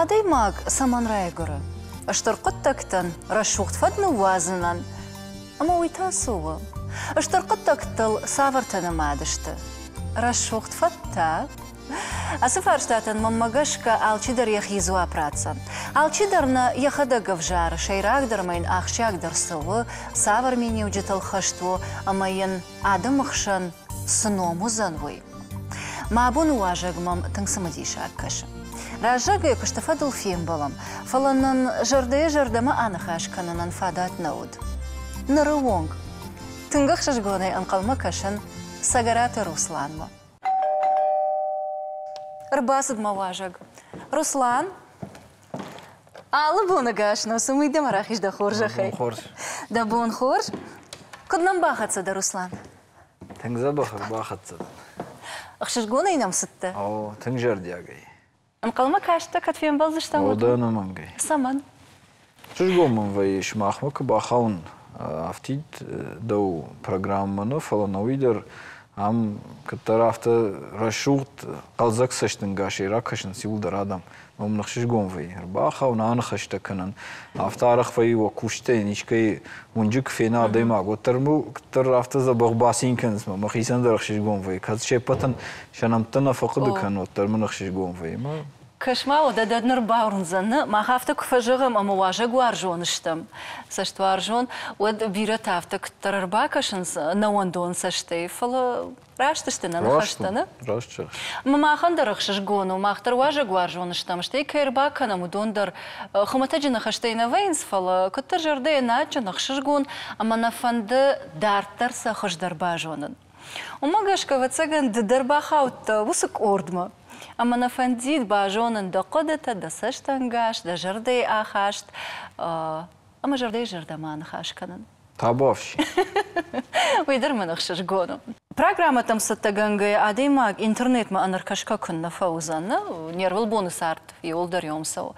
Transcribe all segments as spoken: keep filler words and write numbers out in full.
Адӕймаг цӕмӕн райгуыры? Стыр хъуыддӕгтӕн, рӕсугъд фӕд ныууадзынӕн. Ӕмӕ уый та цы у? Стыр хъуыддӕгтыл цавӕртӕ нымад сты? Рӕсугъд фӕдтӕ? Ацы фарстатӕн, мӕнмӕ гӕсгӕ, алчидӕр йӕхи дзуапп ратдзӕн. Алчидӕр нӕ йӕхӕдӕг ӕвзары, сӕйрагдӕр ӕмӕ йын ахсджиагдӕр цы у, цавӕр миниуджытыл хӕст у ӕмӕ йын адӕмы хсӕн цы ном уыдзӕн, уый. Мӕ абоны уазӕг мӕм тынг цымыдисаг кӕсы. Раззагӕй куысты фӕдыл фембӕлӕм, фӕлӕ нын зӕрдӕйӕ зӕрдӕмӕ аныхас кӕнынӕн фадат нӕ уыд. Ныры онг тынг ӕхсызгонӕй ӕнхъӕлмӕ кӕсын Цӕгӕраты Русланмӕ. Ӕрбацыд мӕ уазӕг. Руслан, алы боны гӕс нӕ цы мидӕмӕ рахиз дӕ хорзӕхӕй. Хорз. Дӕ бон хорз. Куыд нӕм бахӕццӕ дӕ, Руслан? Тынг дзӕбӕх ӕрбахӕццӕ дӕн. Ӕхсызгонӕй нӕм цыдтӕ? О, тынг зӕрдиагӕй. Ӕнхъӕлмӕ кастӕ, кӕд фембӕлдзыстӕм? О, дӕ ӕнӕмӕнгӕй. Цӕмӕн? Ӕхсызгон мын вӕййы, сымахмӕ куы бахауын, афтид дӕу программӕ нӕ, фӕлӕ нӕуый дӕр ам кӕддӕр афтӕ рӕсугъд хъӕлдзӕг цӕстӕнгасӕй ракӕсынц иуылдӕр адӕм. Мӕм ӕхсызгон вӕййы ӕрбахауын, аныхӕстӕ кӕнын. Афтӕ арӕх вӕййы уӕ кусджытӕй искӕй уынджы куы фена адӕймаг, уӕддӕр мыл куыддӕр афтӕ дзӕбӕх бацин кӕнынц, мӕ мӕхицӕн дӕр ӕхсызгон вӕййы. Кӕд се ппӕтӕн сӕ нӕмттӕ нӕ фӕхъуыды кӕнын, уӕддӕр мын ӕхсызгон вӕййы. Кӕс-ма, уӕдӕ дӕ ныр бауырндзӕн, мах афтӕ куы фӕзӕгъӕм ӕмӕ уазӕгуарзон стӕм, цӕстуарзон, уӕд бирӕтӕ афтӕ куыддӕр ӕрбакӕсынц нӕуӕндон цӕстӕй, фӕлӕ раст сты нӕ ныхӕстӕ, нӕ? Раст зӕгъыс. Махӕн дӕр ӕхсызгон у, мах дӕр уазӕгуарзон стӕм, стӕй кӕй ӕрбакӕнӕм, уыдон дӕр хуымӕтӕджы ныхӕстӕй нӕ вӕййынц, фӕлӕ куыддӕр зӕрдӕйӕ адджын, ӕхсызгон ӕмӕ нӕ фӕнды дарддӕр сӕ хуыздӕр базонын. Уымӕ гӕсгӕ, ӕвӕццӕгӕн, ды дӕр бахаудтӕ уыцы къордмӕ. Ӕмӕ нӕ фӕндид базонын дӕ хъуыдытӕ, дӕ цӕстӕнгас, дӕ зӕрдӕйы ахаст ӕмӕ зӕрдӕйы зӕрдӕмӕ ныхас кӕнын. Табуафси. Уый дӕр мын ӕхсызгон у. Программӕтӕм цӕттӕгӕнгӕйӕ адӕймаг интернетмӕ ӕнӕркӕсгӕ куыннӕ фӕуыдзӕн, нӕ? Не рвылбоны цард иуылдӕр йом цӕуы.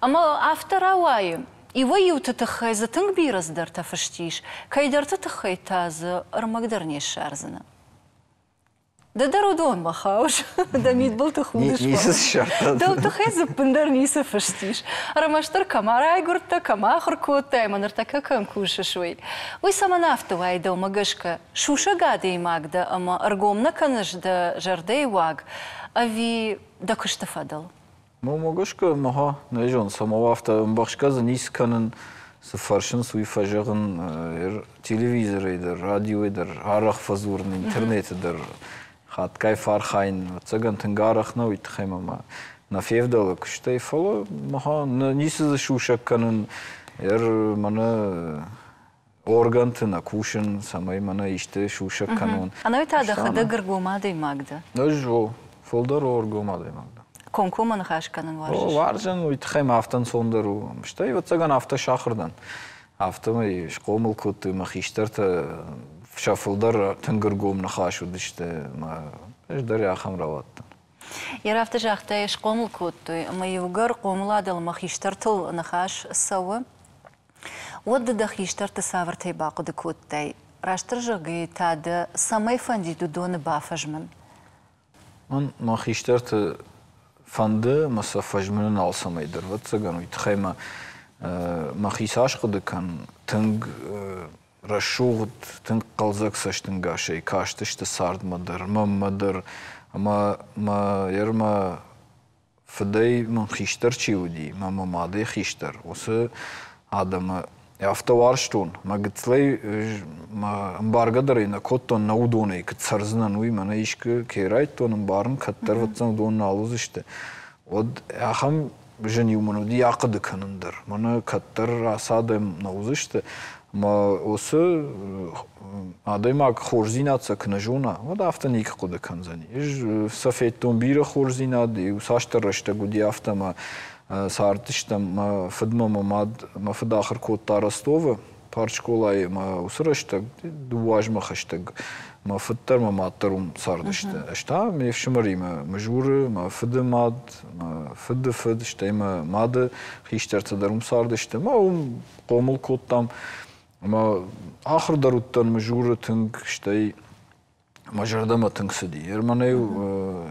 Ӕмӕ афтӕ рауайы, иуӕй-иуты тыххӕй дзы тынг бирӕ цыдӕртӕ фыст ис, кӕйдӕрты тыххӕй та дзы ӕрмӕг дӕр не ссардзынӕ. Ды дӕр уыдонмӕ хауыс, дӕ мидбылты худыс. Ницы ссардта. Дӕу тыххӕй дзы ӕппындӕр ницы фыст ис. Ӕрмӕстдӕр кӕм райгуырдтӕ, кӕм ахуыр кодтай ӕмӕ ныртӕккӕ кӕм кусыс, уый. Уый цӕмӕн афтӕ уайы дӕумӕ гӕсгӕ? Сусӕг адӕймаг дӕ ӕмӕ ӕргом нӕ кӕныс дӕ зӕрдӕйы уаг ӕви дӕ куысты фӕдыл? Мӕнмӕ гӕсгӕ, мӕ нӕ зонын, цӕмӕ афтӕ ӕмбӕхсгӕ дзы ницы кӕнын, цы фӕрсынц, уый фӕзӕгъын телевизорӕй дӕр, радиойы дӕр, арӕх фӕдзурын, интернеты дӕр. Хатгай фӕархайын, ӕвӕццӕгӕн, тынг арӕх нӕ, уый тыххӕй мӕ нӕ февдӕлы куыстӕй, фӕлӕ мӕ ницы дзы сусӕг кӕнын, ӕр мӕнӕ органты нӕ кусын, цӕмӕй мӕнӕ исты сусӕг кӕнон. Ӕнӕуый та дӕхӕдӕг ӕргом адӕймаг дӕ? Ӕз о, фылдӕр ӕргом адӕймаг дӕн. Комкоммӕ ныхас кӕнын уарзыс? О, уарзын, уый тыххӕй мӕ афтӕ ӕнцондӕр у. Стӕй, ӕвӕццӕгӕн, афтӕ сахуыр дӕн. Афтӕмӕй схъомыл кодтой мӕ хистӕртӕ, сӕ фылдӕр тынг ӕргом ныхас уыдысты, мӕ ӕз дӕр ахӕм рауадтӕн. Йе афтӕ загътай, схъомыл кодтой, ӕмӕ иугӕр хъомыладыл мӕ хистӕртыл ныхас цӕуы, уӕд ды дӕ хистӕрты цавӕртӕй бахъуыды кодтай? Растдӕр зӕгъгӕйӕ та дӕ цӕмӕй фӕндид уыдоны бафӕзмын? Мӕн мӕ хистӕрты фӕнды мӕ сӕ фӕзмынын алцӕмӕй дӕр, ӕвӕццӕгӕн, уый тыххӕй мӕ мӕхи цас хъуыды кӕнын, тынг рӕсугъд, тынг хъӕлдзӕг цӕстӕнгасӕй кастысты цардмӕ дӕр, мӕнмӕ дӕр. Ӕмӕ мӕ ӕрмӕ фыдӕй мын хистӕр чи уыди, мӕ мӕ мадӕй хистӕр, уыцы адӕмы афтӕ уарзтон. Мӕ гыццылӕй мӕ ӕмбаргӕ дӕр ӕй нӕ кодтон, нӕ уыдонӕй куыд цӕрдзынӕн, уый мӕнӕ искуы кӕй райдтон ӕмбарын, кӕддӕр ӕвӕццӕгӕн уыдон нал уыдзысты. Уӕд ахӕм зын-иу мын уыди ахъуыды кӕнын дӕр. Мӕнӕ кӕддӕр ацы адӕм нӕ уыдзысты. Ӕмӕ уыцы адӕймаг хорздзинад сӕ куы нӕ зона, уӕд афтӕ никуы хъуыды кӕндзӕни. Ӕз сӕ федтон бирӕ хорздзинад, иу цасдӕр рӕстӕг уыди афтӕ, ӕмӕ цардыстӕм мӕ фыдмӕ мӕ мад, мӕ фыд ахуыр кодта Ростовы партскъолайы, мӕ уыцы рӕстӕг дыууӕ азмӕ хӕстӕг мӕ фыд дӕр, мӕ мад дӕр уым цардысты. Ӕз та ме фсымӕримӕ Мызуры, мӕ фыды мад, мӕ фыды фыд, стӕй мӕ мады хистӕртӕ дӕр уым цардысты. Мӕ уым хъомыл кодтам. Ӕмӕ ахуыр дӕр уыдтӕн Мызуры тынг, стӕй Мӕ зӕрдӕмӕ тынг цыди. Мӕнӕ-иу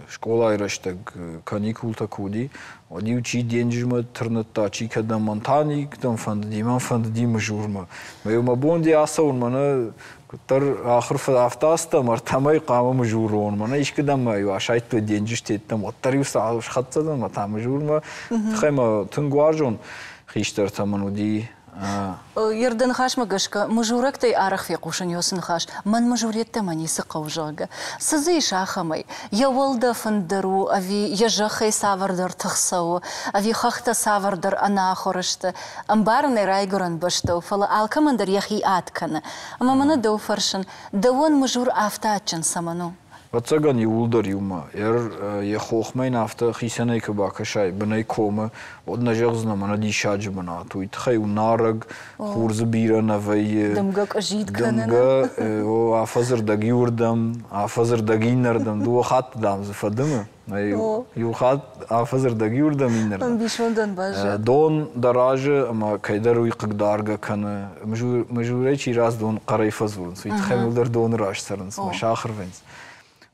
скъолайы рӕстӕг каникултӕ куы уыди, уӕд-иу чи денджызмӕ тырныдта, чи кӕдӕм, мӕн та никӕдӕм фӕндыди, мӕн фӕндыди Мызурмӕ. Мӕ-иу мӕ бон ди ацӕуын, мӕнӕ куыддӕр ахуыр афтӕ ацыдтӕн, ӕртӕмӕй хъуамӕ Мызуры уон. Мӕнӕ искуыдӕм мӕ-иу асайдтой денджызтӕттӕм, уӕддӕр-иу схӕццӕ дӕн мӕ та Мызурмӕ. Тыххӕй мӕ тынг уарзон хистӕртӕ мын уыди. Йе ныхасмӕ гӕсгӕ, мызурӕгтӕй арӕх фехъусын уыцы ныхас, мӕн мызуреттӕмӕ ницы хъӕуы, зӕгъгӕ. Цы дзы ис ахӕмӕй? Йӕ уӕлдӕф ӕндӕр у, ӕви йӕ зӕххӕй цавӕрдӕр тых цӕуы, ӕви хӕхтӕ цавӕрдӕр ӕнахуыр сты. Ӕмбарын ӕй райгуырӕн бӕстӕ у, фӕлӕ алкӕмӕн дӕр йӕхи ад кӕны. Ӕмӕ мӕнӕ дӕу фӕрсын, дӕуӕн Мызур афтӕ адджын цӕмӕн у? Ӕвӕццӕгӕн, иууылдӕр иумӕ. Йӕ хохмӕ йын афтӕ хицӕнӕй куы бакӕсай, бынӕй комы, уӕд нӕ зӕгъдзынӕ, мӕнӕ диссаджы бынат. Уый тыххӕй у нарӕг, хур дзы бирӕ нӕ вӕййы. Дымгӕ къуыззитт кӕны. Дымгӕ, афӕдзы рдӕг иуырдӕм, афӕдзы рдӕг иннӕрдӕм, дыууӕ хатты, дам, дзы фӕдымы. Иу хатт афӕдзы рдӕг иуырдӕм, иннӕрдӕм. Ӕмбисондӕн баззад. Дон дӕ разы ӕмӕ кӕйдӕр уый хъыгдаргӕ кӕны. Мызурӕй чи рацыд, уыдон хъӕрӕй фӕдзурынц. Уый тыххӕй мыл дӕр доны раз цӕрынц, мӕ сахыр вӕййынц.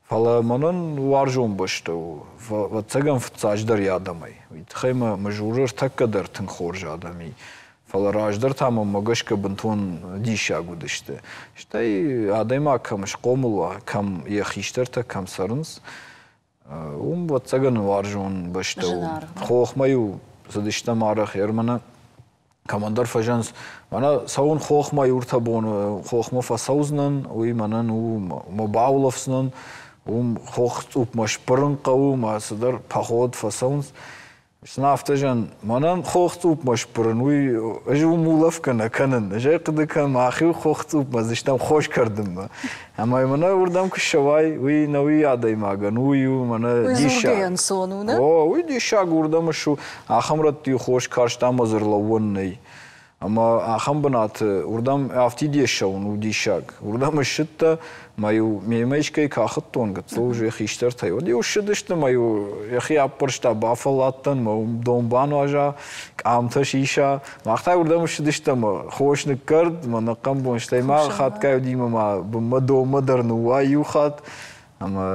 Фӕлӕ мӕнӕн уарзон бӕстӕ у, ӕвӕццӕгӕн, фыццаджыдӕр йӕ адӕмӕй. Уый тыххӕй мӕ Мызуры ӕртӕккӕ дӕр тынг хорз адӕм и. Фӕлӕ раздӕр та мӕнмӕ гӕсгӕ бынтон диссаг уыдысты. Стӕй адӕймаг кӕм схъомыл уа, кӕм йӕ хистӕртӕ кӕм цӕрынц, уым, ӕвӕццӕгӕн, уарзон бӕстӕ у. Хохмӕ-иу цыдыстӕм арӕх, мӕнӕ кӕмӕндӕр фӕзӕнц, мӕнӕ цӕуын хохмӕ иу-ӕртӕ боны хохмӕ фӕцӕудзынӕн, уый мӕнӕн у, мӕ баулӕфдзынӕн, уым хох цъупмӕ сбырын хъӕуы, мӕ цыдӕр поход фӕцӕуынц. Сын афтӕ зӕгъын, мӕнӕн хох цъупмӕ сбырын, уый ӕз уым улӕфгӕ нӕ кӕнын. Ӕз ӕй хъуыды кӕнын, мӕхи хох цъупмӕ дзыстӕм хос кӕрдынмӕ. Ӕмӕ мӕнӕ уырдӕм куы ссӕуай, уый нӕуи адӕймагӕн, уый у мӕнӕ диссаг. Ӕнцон у, нӕ? О, уый диссаг уырдӕм ссу. Ахӕм рӕтты хос карст ӕмӕ дзы ӕрлӕууӕн нӕй. Ӕмӕ ахӕм бынаты уырдӕм афтид ссӕуын у диссаг. Уырдӕм ссыдтӕ, мӕ-иу мемӕ искӕй кахыдтон гыццыл уже хистӕртӕй. Уӕд-иу ссыдысты, мӕ-иу йӕхи аппӕрста, бафӕлладтӕн, мӕ уым дон бануаза, къамтӕ сиса. Мах та уырдӕм ссыдыстӕм, хос ныккӕрд, мӕ ныхъхъӕн бон, стӕй ма хатгай уыди мӕ ма бынмӕ донмӕ дӕр ныууай иу хатт. Ӕмӕ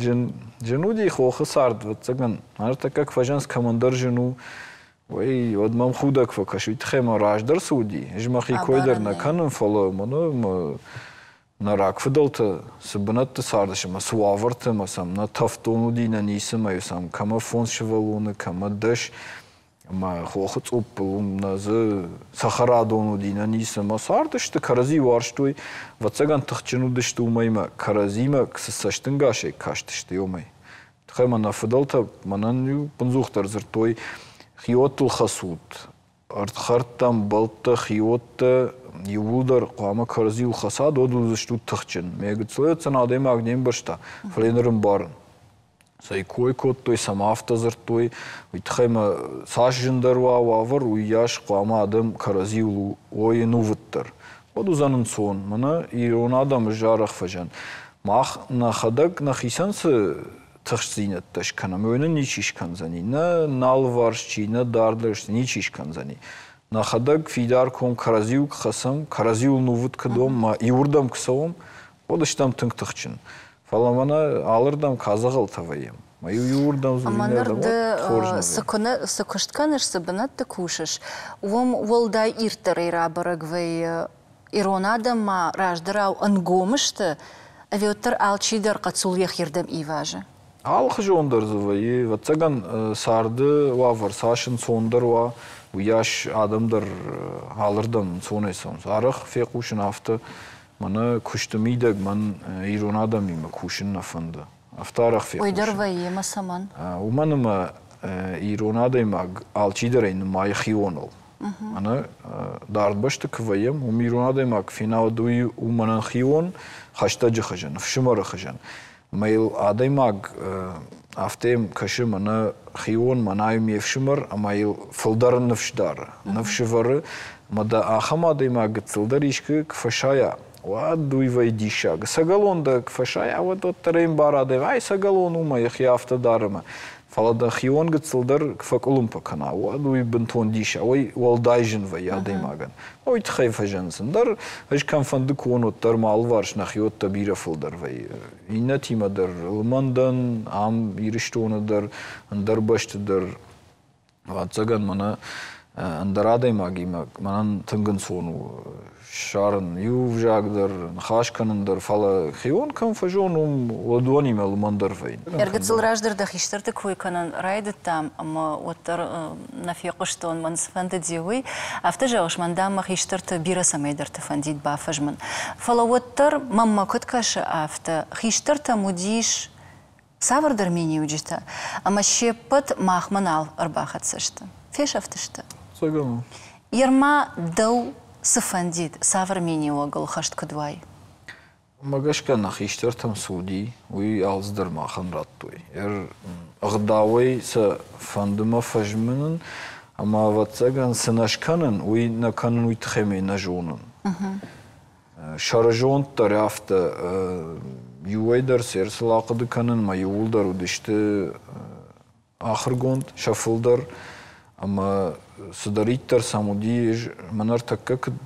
зын, зын уыди хохы цард, ӕвӕццӕгӕн. Ӕртӕккӕ куы фӕзӕнц, кӕмӕндӕр зын у, уый уӕд мӕм худӕг фӕкӕсы. Уый тыххӕй мӕ раздӕр цы уыди, ӕз мӕхи кой дӕр нӕ кӕнын, фӕлӕ мӕнӕ мӕ нӕ рагфыдӕлтӕ цы бынӕтты цардысты ӕмӕ цы уавӕрты, ӕмӕ сӕм нӕ тӕвддон уыди, нӕ ницы, ӕмӕ сӕм кӕмӕ фондз сывӕллоны, кӕмӕ дӕс, ӕмӕ хохы цъуппыл уым нӕ дзы цӕхӕрадон уыди, нӕ ницы, ӕмӕ цардысты, кӕрӕдзи уарзтой, ӕвӕццӕгӕн тыхджын уыдысты уымӕй ӕмӕ кӕрӕдзимӕ цы цӕстӕнгасӕй кастысты, уымӕй. Тыххӕй мӕ нӕ фыдӕлтӕ мӕнӕн-иу бындзухдӕр дзырдтой, хиуӕттыл хӕцут, ӕрдхӕрдтӕ, ӕмбӕлттӕ, хиуӕттӕ иууылдӕр хъуамӕ кӕрӕдзиуыл хӕцат, уӕд уыдзыстут тыхджын. Мӕ гыццылӕй адӕймаг не мбӕрста, фӕлӕ ныр ӕмбарын. Цӕй кой кодтой, цӕмӕ афтӕ дзырдтой, уый тыххӕй мӕ цас зындӕр уа уавӕр, уыйас хъуамӕ адӕм кӕрӕдзиуыл уой ӕнувыддӕр. Уӕд уыдзӕн ӕнцон. Мӕнӕ ирон адӕмы арӕх фӕзӕн. Мах нӕхӕдӕг нӕхицӕн цы тыхстдзинӕдтӕ скӕнӕм, уый нын ничи скӕндзӕни. Нӕ нӕ алыварс чи, нӕ дарддӕр ничи скӕндзӕни. Нӕхӕдӕг фидар ком кӕрӕдзиуыл куы хӕцӕм, кӕрӕдзиуыл нувыд куы дом, ма иуырдӕм куы цӕуӕм, уӕд стӕм тынг тыхджын. Фӕлӕ мӕнӕ алырдӕм кадзӕгъӕлтӕ вӕййӕм. Ма иу иуырдӕм Ӕмӕ ныр ды цы куыст кӕныс, цы бынӕтты кусыс, уым уӕлдай ирддӕрӕй рабӕрӕг вӕййы, ирон адӕм ма раздӕрау ӕнгом сты, ӕви уӕддӕр алчидӕр хъӕццул йӕхирдӕм ивазы? Алыхуызон дӕр дзы вӕййы. Ӕвӕццӕгӕн, царды уавӕр цас ӕнцондӕр уа, уыйас адӕм дӕр алырдӕм ӕнцонӕй цӕуынц. Арӕх фехъусын афтӕ, мӕнӕ куысты мидӕг мӕн ирон адӕмимӕ кусын нӕ фӕнды. Афтӕ арӕх фехъусын. Уый дӕр вӕййы, ӕмӕ цӕмӕн? Уымӕн ӕмӕ ирон адӕймаг алчидӕр ӕй нымайы хионыл. Мӕнӕ дард бӕсты куы вӕййӕм, уым ирон адӕймаг фенауд, уый у мӕнӕн хион, хӕстӕджы хуызӕн, ӕфсымӕры хуызӕн. Ӕмӕ йыл адӕймаг афтӕ кӕсы, мӕнӕ хион, мӕнӕ ме фсымӕр, ӕмӕ йыл фылдӕр ныфс дары, ныфс ӕвӕры. Ӕмӕ дӕ ахӕм адӕймаг гыццылдӕр искуы куы фӕсайа, Уӕд уый вӕййы диссаг. Ӕцӕгӕлон дӕ куы фӕсайа, уӕд уӕддӕр ӕй ӕмбары адӕм, ай ӕцӕгӕлон у мӕ йӕхи афтӕ дары мӕ. Фӕлӕ дӕ хион гыццыл дӕр куы фӕкъуылымпы кӕна, уӕд уый бынтон диссаг, уый уӕлдай зын вӕййы адӕймагӕн. Уый тыххӕй фӕзӕнынц. Ӕндӕр ӕз кӕмфӕнды куы уон, уӕддӕр мӕ алыварс нӕхиуӕттӕ бирӕ фылдӕр вӕййы. Иннӕтимӕ дӕр лымӕн дӕн, ам Ирыстоны дӕр, ӕндӕр бӕсты дӕр. Ӕвӕццӕгӕн, мӕнӕ ӕндӕр адӕймагимӕ мӕнӕн тынг ӕнцон у ссарын иу ӕвзаг дӕр, ныхас кӕнын дӕр, фӕлӕ хион кӕм фӕзон, уым уыдонимӕ лымӕн дӕр вӕййын. Ӕргыцыл раздӕр дӕ хистӕрты кой кӕнын райдыдтам, ӕмӕ уӕддӕр нӕ фехъуыстон, мӕн цы фӕндыди, уый. Афтӕ зӕгъыс, мӕн, дам, мӕ хистӕрты бирӕ цӕмӕйдӕрты фӕндид бафӕзмын. Фӕлӕ уӕддӕр, мӕнмӕ куыд кӕсы, афтӕ хистӕртӕм уыдис цавӕрдӕр миниуджытӕ, ӕмӕ се ппӕт махмӕ нал ӕрбахӕццӕ сты, фесӕфтысты. Ерма дӕу цы фӕндид, цавӕр миниуӕгыл хӕст куыд уай? Уымӕ гӕсгӕ нӕ хистӕртӕм цы уыди, уый алцыдӕр махӕн радтой. Ӕгъдауӕй сӕ фӕнды мӕ фӕзмынын, ӕмӕ, ӕвӕццӕгӕн, цы нӕ скӕнын, уый нӕ кӕнын, уый тыххӕй мӕ нӕ зонын. Сӕрызонд дӕр афтӕ, иуӕй дӕр сӕ сыл ахъуыды кӕнын, мӕ иууылдӕр уыдысты ахуыргонд, сӕ фылдӕр, ӕмӕ цыдӕриддӕр сӕм уыди, мӕн ӕртӕккӕ куыд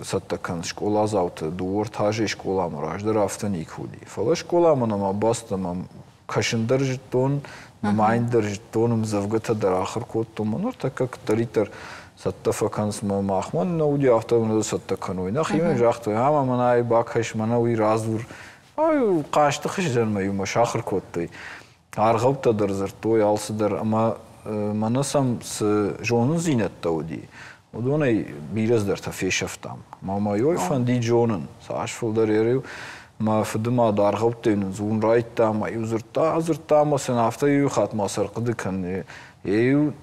цӕттӕ кӕнынц скъоладзауты, дыууӕ ӕртӕ азӕй скъоламӕ, раздӕр афтӕ никуы уыди. Фӕлӕ скъоламӕ нӕма бацыд ӕмӕ кӕсын дӕр зыдтон, нымайын дӕр зыдтон, ӕмдзӕвгӕтӕ дӕр ахуыр кодтон. Мӕн ӕртӕккӕ куыддӕриддӕр цӕттӕ фӕкӕнынц мӕ махмӕ нӕ уыди, афтӕ мын цӕттӕ кӕной. Нӕхимӕ загътой, ӕмӕ мӕнӕ ай бакӕс, мӕнӕ уый радзур. Ай хъазты хуыздӕр мӕ иумӕ сахуыр кодтой. Аргъӕуттӕ дӕр дзырдтой, алцыдӕр, ӕмӕ мӕнӕ сӕм цы зонындзинӕдтӕ уыди, уыдонӕй бирӕ цыдӕртӕ фесӕфтам. Мӕ мӕ ой фӕндид зонын, цас фылдӕр ӕриу мӕ фыдымад аргъӕуттӕй нын дзурын райдыдта, ӕмӕ-иу дзырдта, дзырдта, ӕмӕ сын афтӕ иу хатт ма сӕ ӕрхъуыды кӕн. Иу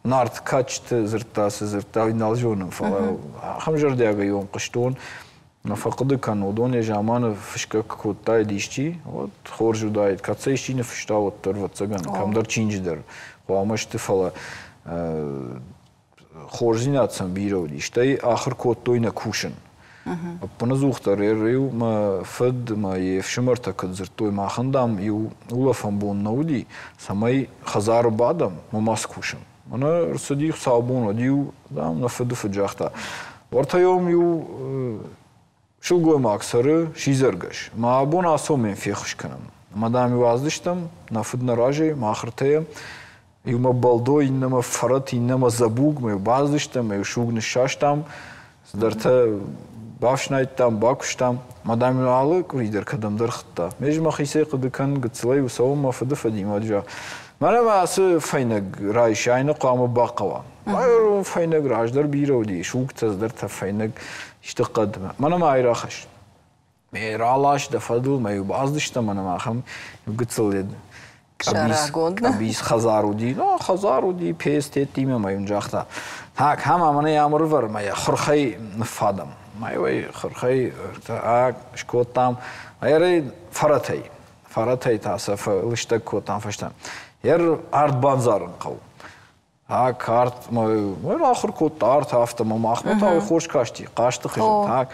Нарты кадджыты дзырдта, цы дзырдта, уый нал зонын, фӕлӕ ахӕм зӕрдиагӕй уым хъуыстон. Нӕ фӕхъуыды кӕн, уыдон йӕ заманы фысгӕ куы кодтаид исчи, уӕд хорз уыдаид. Кӕд сӕ исчи ныффыста, уӕддӕр, ӕвӕццӕгӕн, кӕмдӕр чинджы дӕр хъуамӕ сты, фӕлӕ хорздзинад сӕм бирӕ уыди. Стӕй ахуыр кодтой нӕ кусын. Ӕппынӕдзухдӕр иу мӕ фыд мӕ йе фсымӕртӕ куыд дзырдтой, махӕн, дам, иу улӕфӕн бон нӕ уыди, цӕмӕй хӕдзары бадӕм ӕмӕ ма скусӕм. Мӕнӕ ӕрцыди хуыцаубон, уӕд иу, дам, нӕ фыды фыд загъта, уӕртӕ йӕм иу сылгоймаг цӕры, сидзӕргӕс. Мӕ абон ацӕуӕм йын феххуыс кӕнӕм. Ӕмӕ, дам, иу аздыстӕм, нӕ фыд нӕ разӕй, мах ӕртӕйӕ, иумӕ бӕлдо, иннӕмӕ фӕрӕт, иннӕмӕ дзӕбуг, мӕ иу баздыстӕм, мӕ иу суг ныссастам, цыдӕртӕ бафснайдтам, бакуыстам. Мӕ, дам, алы къуыри дӕр кӕдӕмдӕр хуыдта. Ме ӕз мӕхицӕй хъуыды кӕнын, гыццылӕй цӕуын мӕ фыды фӕдимӕ, зӕгъ, мӕнӕ мӕ ацы фӕйнӕг райс, ай нӕ хъуамӕ бахъӕуа. Фӕйнӕг раздӕр бирӕ уыди, сугтӕ, цыдӕртӕ, фӕйнӕг, исты хъӕдмӕ. Мӕнӕ ма ай рахӕсс. Ме ралас дӕ фӕдыл, мӕ иу баздыстӕм, ӕмӕ ахӕм гыццыл къӕбиц хӕдзар уыди. Ну, хӕдзар уыди, пец теттимӕ мӕ йын загъта, так, ӕмӕ мӕнӕ амырвӕр, мӕ йӕ хурхӕй ныффадӕм. Мӕ йӕ хурхӕй скодтам, ӕрӕй фӕрӕтӕй. Фӕрӕтӕй та сӕ лыстӕг кодтам фӕстӕ. Ер арт бандзарын хъӕуы. Так, арт, мӕ ахуыр кодта арт афтӕ, мӕ махмӕ та уый хорз касти, хъазты хуызӕн. Так,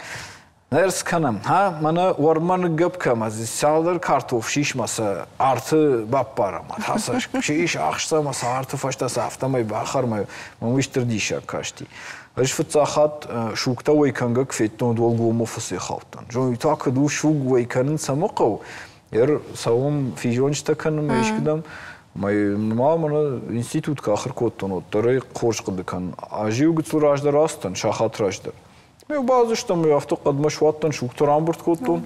ныр скӕнӕм, ха, мӕнӕ уӕрмӕ ныггӕпп кӕм, цалдӕр картоф сисмӕ сӕ арты баппарӕм, та сӕ сис ахсӕм, сӕ арты фӕстӕ сӕ афтӕмӕй бахӕрмӕ, мӕм уый стыр диссаг касти. Ӕз фыццаг хатт сугтӕ уӕй кӕнгӕ куы федтон, уӕлгоммӕ фӕцӕйхаудтӕн. Зон, та куыд у суг уӕй кӕнын цӕмӕ хъӕуы? Ер цӕуӕм физонджытӕ кӕнынмӕ искуыдӕм. Мӕ мӕнӕ институт куы ахуыр кодтон, уӕддӕр ӕй хорз хъуыды кӕнын. Ӕз-иу гыццыл раздӕр ацыдтӕн, сахат раздӕр. Ме бадзыстӕм, афтӕ хъӕдмӕ суадтӕн, сугтӕ рамбырд кодтон.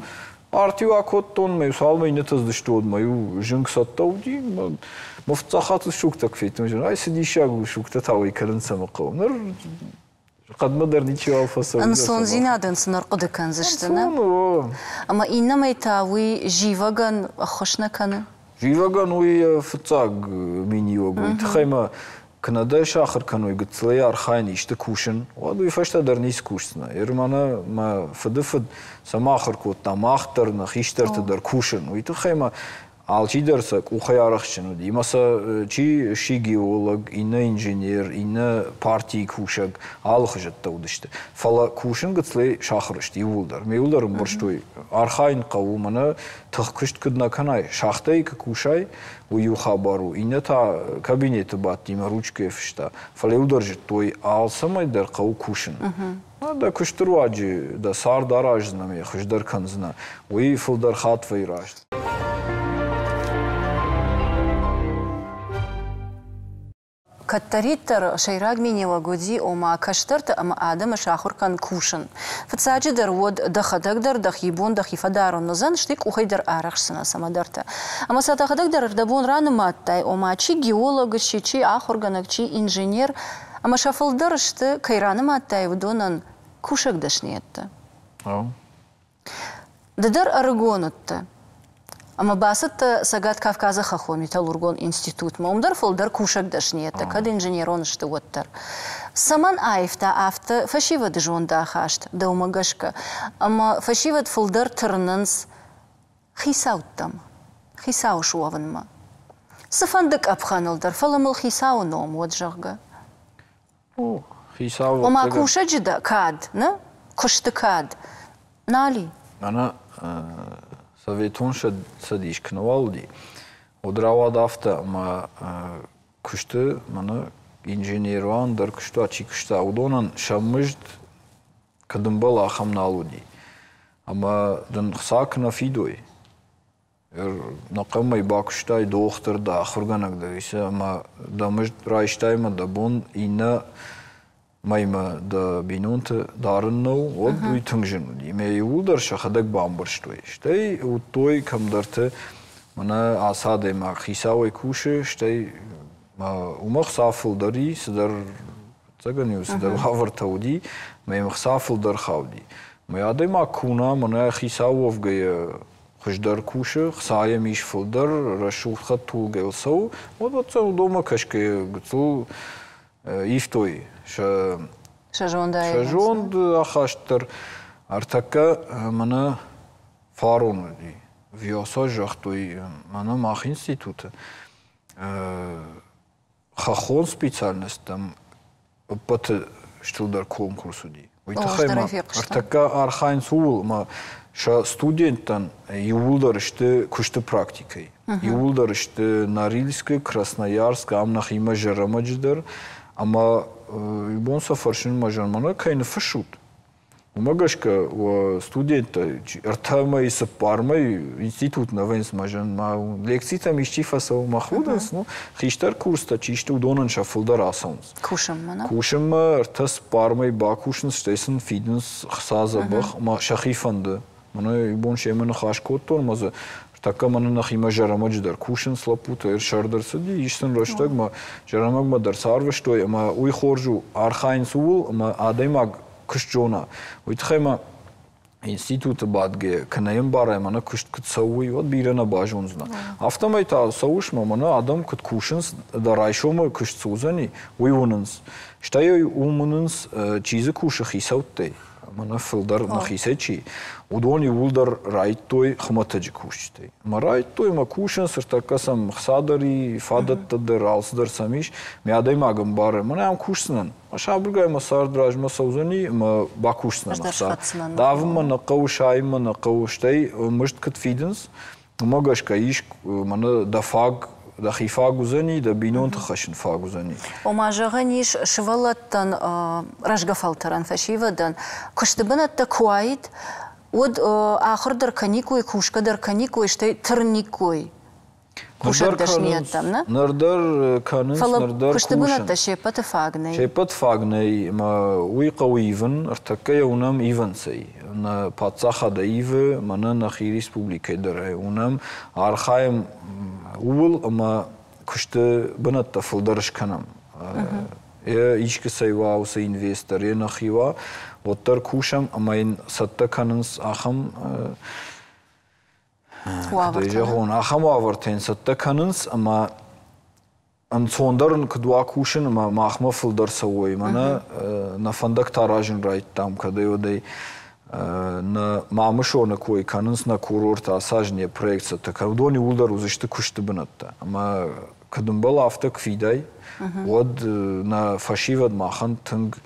Арт-иу акодтон, мӕ цалынмӕ иннӕтӕ цыдысты, уӕдмӕ иу зынг цӕттӕ уыди. Мӕ фыццаг хатт сугтӕ куы федтон, ай цы диссаг у, сугтӕ та уӕй кӕнын цӕмӕ хъӕуы. Ныр хъӕдмӕ дӕр ничиуал фӕцӕуы. Ӕнцондзинадӕн сын ӕрхъуыды кӕндзысты, нӕ? Ӕмӕ иннӕмӕй та уый зивӕгӕн ӕххуыс нӕ кӕны? Зивӕгӕн уый фыццаг миниуӕг. Уый тыххӕй мӕ куы нӕ дӕ сахуыр кӕной гыццылӕй архайын исты кусын, уӕд уый фӕстӕ дӕр ницы кусдзынӕ. Ер мӕнӕ мӕ фыды фыд цӕмӕ ахуыр кодта, мах дӕр, нӕ хистӕрты дӕр кусын. Уый тыххӕй мӕ Алчидӕр сӕ къухӕй арӕхстджын уыди. Ӕмӕ сӕ чи сси геолог, иннӕ инженер, иннӕ партийы кусӕг, алыхуызӕттӕ уыдысты. Фӕлӕ кусын гыццылӕй сахуыр сты иууылдӕр. Ме иууылдӕр ӕмбӕрстой, архайын хъӕуы, мӕнӕ тыхкуыст куыд нӕ кӕнай, шахтӕйы куы кусай, уый иу хабар у. Иннӕ та кабинеты бадтимӕ ручкӕйы фыста. Фӕлӕ иуылдӕр зыдтой, алцӕмӕй дӕр хъӕуы кусын. Дӕ куысты руаджы дӕ цард араздзынӕ ӕмӕ йӕ хуыздӕр кӕндзынӕ. Уый фылдӕр хатт вӕййы раст. Кӕддӕриддӕр сӕйраг миниуӕг уыди, ома кӕстӕрты ӕмӕ адӕмы сахуыр кӕн кусын. Фыццаджыдӕр уӕд дӕхӕдӕг дӕр дӕхи бон дӕхи фӕдарын уыдзӕн, стӕй къухӕй дӕр арӕхсдзынӕ цӕмӕдӕрты. Ӕмӕ сӕ дӕхӕдӕг дӕр ӕрдӕбон ранымадтай, ома чи геолог сси, чи ахуыргӕнӕг, чи инженер, ӕмӕ сӕ фылдӕр сты, кӕй ранымадтай, уыдонӕн кусӕг дӕсныйӕдтӕ. Ды дӕр ӕрыгон уыдтӕ ӕмӕ бацыдтӕ Цӕгат Кавказы хӕххон металлургон институтмӕ. Уым дӕр фылдӕр кусӕг дӕсныйӕдтӕ, кӕд инженерон сты, уӕддӕр. Цӕмӕн аивта афтӕ фӕсивӕды зондахаст дӕумӕ гӕсгӕ? Ӕмӕ фӕсивӕд фылдӕр тырнынц хицӕуттӕм, хицау суӕвынмӕ. Цыфӕнды къӕпхӕныл дӕр, фӕлӕ мыл хицауы ном уӕд, зӕгъгӕ. Ну, хицау Ома кусӕджы дӕ кад, нӕ? Куысты кад. Нал и. Мӕнӕ Советон Цӕдис куы нӕуал уыди, уӕд рауад афтӕ, ӕмӕ куысты мӕнӕ инженерон дӕр куыстуат чи куыста, уыдонӕн сӕ мызд куыд ӕмбӕлы, ахӕм нал уыди. Ӕмӕ дын хца куы нӕ фидой, нӕхъӕмӕй бакуыстай дохтыр дӕ, ахуыргӕнӕг дӕ, ӕмӕ дӕ мызд райстай ӕмӕ дӕ бон иннӕ мӕймӕ дӕ бинонты дарын нӕу, уӕд уый тынг зын уыди. Ӕмӕ иууылдӕр сӕхӕдӕг бамбӕрстой. Стӕй уыдтой кӕмдӕрты, мӕнӕ ацы адӕймаг хицауӕй кусы, стӕй уымӕ хца фылдӕр и, цыдӕр ӕцӕгӕн-иу цыдӕр уавӕртӕ уыди, ӕмӕ йӕм хца фылдӕр хауди. Мӕ адӕймаг куы уына, мӕнӕ хицау уӕвгӕйӕ хуыздӕр кусы, хца йӕм ис фылдӕр, рӕсугъд хӕдтулгӕйыл цӕуы, уӕд уӕддӕр уыдонмӕ кӕсгӕйӕ гыццыл ивтой сӕ сӕ сӕ зонд ахаст дӕр. Ӕртӕккӕ мӕнӕ фарон уыди. ВИОСО загътой, мӕнӕ мах институты хӕххон специальносттӕм ӕппӕты стырдӕр конкурс уыди. Уый тыххӕй ма ӕртӕккӕ архайынц ууыл, ӕмӕ сӕ студенттӕн иууылдӕр сты куысты практикӕйы. Иууылдӕр сты Норильскы, Красноярскы, ам нӕхимӕ Зӕрӕмӕджы дӕр. Ӕмӕ бон сӕ фӕрсынмӕ зӕрмӕнӕ кӕй ныффыссут, уымӕ гӕсгӕ уӕ студенттӕ ӕртӕ мӕй, цыппар мӕй институт нӕ вӕййынц мӕ зӕн, ма лекцитӕм исчи фӕцӕуы, мӕ худынц, ну, хистӕр курстӕ чи сты, уыдонӕн сӕ фылдӕр ацӕуынц. Кусынмӕ, нӕ? Кусынмӕ ӕртӕ цыппар мӕй бакусынц, стӕй сын фидынц хца дзӕбӕх, ӕмӕ сӕхи фӕнды. Мӕнӕ иу бон семӕ ныхас кодтон, ӕмӕ дзы тӕккӕ мӕнӕ нӕхимӕ Зӕрӕмӕджы дӕр кусынц лӕппутӕ, сӕрд ӕрцыди, ис сын рӕстӕгмӕ, Зӕрӕмӕгмӕ дӕр сӕ арвыстой, ӕмӕ уый хорз у, архайынц ууыл, ӕмӕ адӕймаг куыст зона. Уый тыххӕй ма институты бадгӕ, кӕнӕ йӕм барай, мӕнӕ куыст куыд цӕуы, уӕд бирӕ нӕ базондзынӕ. Афтӕмӕй та цӕуыс, мӕ мӕнӕ адӕм куыд кусынц, дӕ райсомы куыст цы уыдзӕни, уый уынынц. Стӕй уым уынынц, чи дзы кусы хицӕуттӕй, мӕнӕ фылдӕр нӕхицӕй чи, уыдон иууылдӕр райдтой хуымӕтӕджы кусджытӕй. Ӕмӕ райдтой ӕмӕ кусынц, ӕртӕккӕ сӕм хца дӕр и, фадӕттӕ дӕр, алцыдӕр сӕм ис. Мӕ адӕймаг ӕмбары, мӕнӕ ам кусдзынӕн, сабыргай мӕ цард размӕ цӕудзӕни ӕмӕ бакусдзынӕн ӕхца. Давынмӕ нӕ хъӕуы, сайынмӕ нӕ хъӕуы, стӕй мызд куыд фидынц, уымӕ гӕсгӕ ис мӕнӕ дӕ фаг, дӕхи фаг уыдзӕни, дӕ бинонты хӕссын фаг уыдзӕни. Ома, зӕгъӕн ис, сывӕллӕттӕн, рӕзгӕ фӕлтӕрӕн, фӕсивӕдӕн куысты бынӕттӕ куы уаид, уӕд ахуыр дӕр кӕниккой, кусгӕ дӕр кӕниккой, стӕй тырниккой кусӕг дӕсныйӕдтӕм, нӕ? Ныр дӕр кӕнынц, Фӕлӕ ныр дӕр куысты бынӕттӕ се ппӕты фаг нӕй. Се ппӕт фаг нӕй, ӕмӕ уый хъӕуы ивын, ӕртӕккӕ йӕ уынӕм ивынцӕй. Нӕ паддзахад ивы, мӕнӕ нӕхи республикӕйы дӕр ӕй уынӕм, архайӕм ууыл, ӕмӕ куысты бынӕттӕ фылдӕр скӕнӕм. Йӕ искӕцӕй уа уыцы инвестор, йӕ нӕхи уа, уӕддӕр кусӕм ӕмӕ йын цӕттӕ кӕнынц ахӕм уавӕртӕ. Зӕгъон, ахӕм уавӕртӕ йын цӕттӕ кӕнынц, ӕмӕ ӕнцондӕр ын куыд уа кусын, ӕмӕ махмӕ фылдӕр цӕуой. Мӕнӕ нӕ фӕндӕгтӕ аразын райдтам, кӕдӕй-уӕдӕй Нӕ Мамысоны кой кӕнынц, нӕ курорты ацы аз не проект цӕттӕ кӕны. Уыдон иууылдӕр уыдзысты куысты бынӕттӕ. Ӕмӕ куыд ӕмбӕлы, афтӕ куы фидай, уӕд нӕ фӕсивӕд махӕн тынг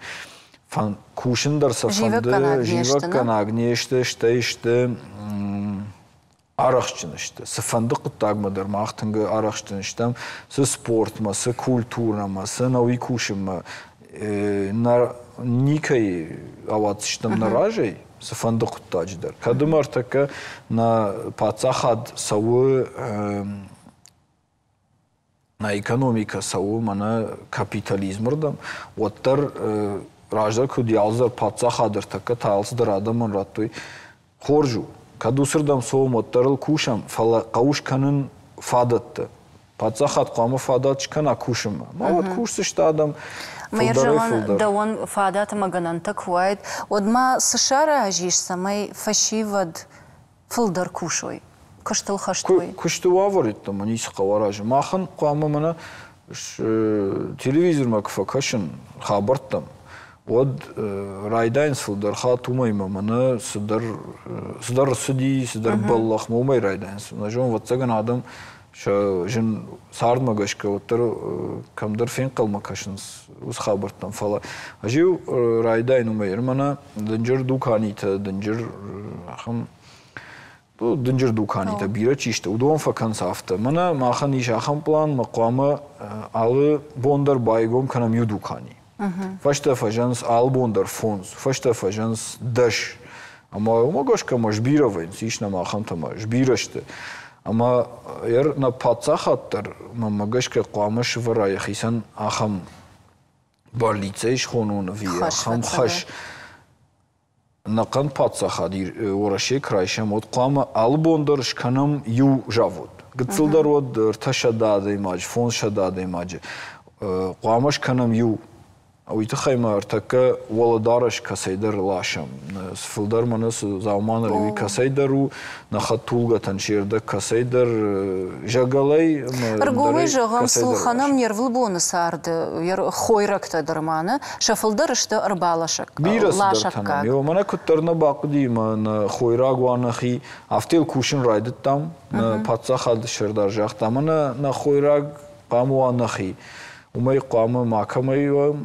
кусын дӕр сӕ фӕнды, зивӕггӕнаг не сты, стӕй сты арӕхстджын сты. Цыфӕнды хъуыддагмӕ дӕр мах тынг арӕхстджын стӕм, цы спортмӕ, цы культурӕмӕ, цы науи кусынмӕ. Нӕ никӕй ауадздзыстӕм нӕ разӕй, цыфӕнды хъуыддаджы дӕр. Кӕд ӕмӕ ӕртӕккӕ нӕ паддзахад цӕуы, нӕ экономикӕ цӕуы мӕнӕ капитализмы рдӕм, уӕддӕр раздӕр куыд алцыдӕр паддзахад ӕртӕккӕ та алцыдӕр адӕмӕн радтой, хорз у. Кӕд уыцырдӕм цӕуӕм, уӕддӕр ыл кусӕм, фӕлӕ хъӕуы скӕнын фадӕттӕ. Паддзахад хъуамӕ фадат скӕна кусынмӕ. Ма уӕд кусдзысты адӕм фылдӕрӕй-фылдӕр. Дӕуӕн фадат ӕмӕ гӕнӕнтӕ куы уаид, уӕд ма цы саразис, цӕмӕй фӕсивӕд фылдӕр кусой, куыстыл хӕст уой? Куысты уавӕр йеддӕмӕ ницы хъӕуы аразын. Махӕн хъуамӕ мӕнӕ телевизормӕ куы фӕкӕсын хабӕрттӕм, уӕд райдайынц фылдӕр хатт уымӕй ӕмӕ мӕнӕ цыдӕр цыдӕр ӕрцыди, цыдӕр бӕллӕхмӕ уымӕй райдайынц. Нӕ зонын, ӕвӕццӕгӕн, адӕм сӕ зын цардмӕ гӕсгӕ уӕддӕр кӕмдӕр фенхъӕлмӕ кӕсынц уыцы хабӕрттӕм. Фӕлӕ ӕз-иу райдайын уымӕй, мӕнӕ дынджыр дуканитӕ, дынджыр ахӕм дынджыр дуканитӕ бирӕ чи сты, уыдон фӕкӕнынц афтӕ. Мӕнӕ махӕн ис ахӕм пълан, мӕ хъуамӕ алы бон дӕр байгом кӕнӕм иу дукани. Фӕстӕ фӕзӕнц алы бон дӕр фондз, фӕстӕ фӕзӕнц дӕс. Ӕмӕ уымӕ гӕсгӕ ма сбирӕ вӕййынц, ис нӕм ахӕмтӕ ма сбирӕ сты. Ӕмӕ нӕ паддзахад дӕр, мӕнмӕ гӕсгӕ, хъуамӕ сывӕра йӕхицӕн ахӕм бӕллицӕй схонон ӕви ахӕм хӕс. Ӕнӕхъӕн паддзахад Уӕрӕсе куы райсӕм, уӕд хъуамӕ алы бон дӕр скӕнӕм иу завод. Гыццыл дӕр уӕд ӕртӕсӕдӕ адӕймаджы, фондзсӕдӕ адӕймаджы. Хъуамӕ скӕнӕм иу. Уый тыххӕй ма ӕртӕккӕ уӕлӕдарӕс кӕцӕйдӕр ласӕм. Фылдӕр мӕнӕ цы дзаума ныр уый кӕцӕйдӕр у, нӕ хӕдтулгӕтӕн се рдӕг кӕцӕйдӕр зӕгӕлӕй. Ӕргомӕй зӕгъӕм, сулхӕнӕм не рвылбоны царды хойрӕгтӕ дӕр ма нӕ, сӕ фылдӕр сты ӕрбаласӕггаг. Бирӕ цыдӕртӕ нӕм. Мӕнӕ куыддӕр нӕ бахъуыди ӕмӕ нӕ хойраг уа нӕхи, афтӕ йыл кусын райдыдтам. Нӕ паддзахады сӕрдар загъта, мӕнӕ нӕ хойраг хъуамӕ уа нӕхи. Уымӕй хъуамӕ макӕмӕй уӕм.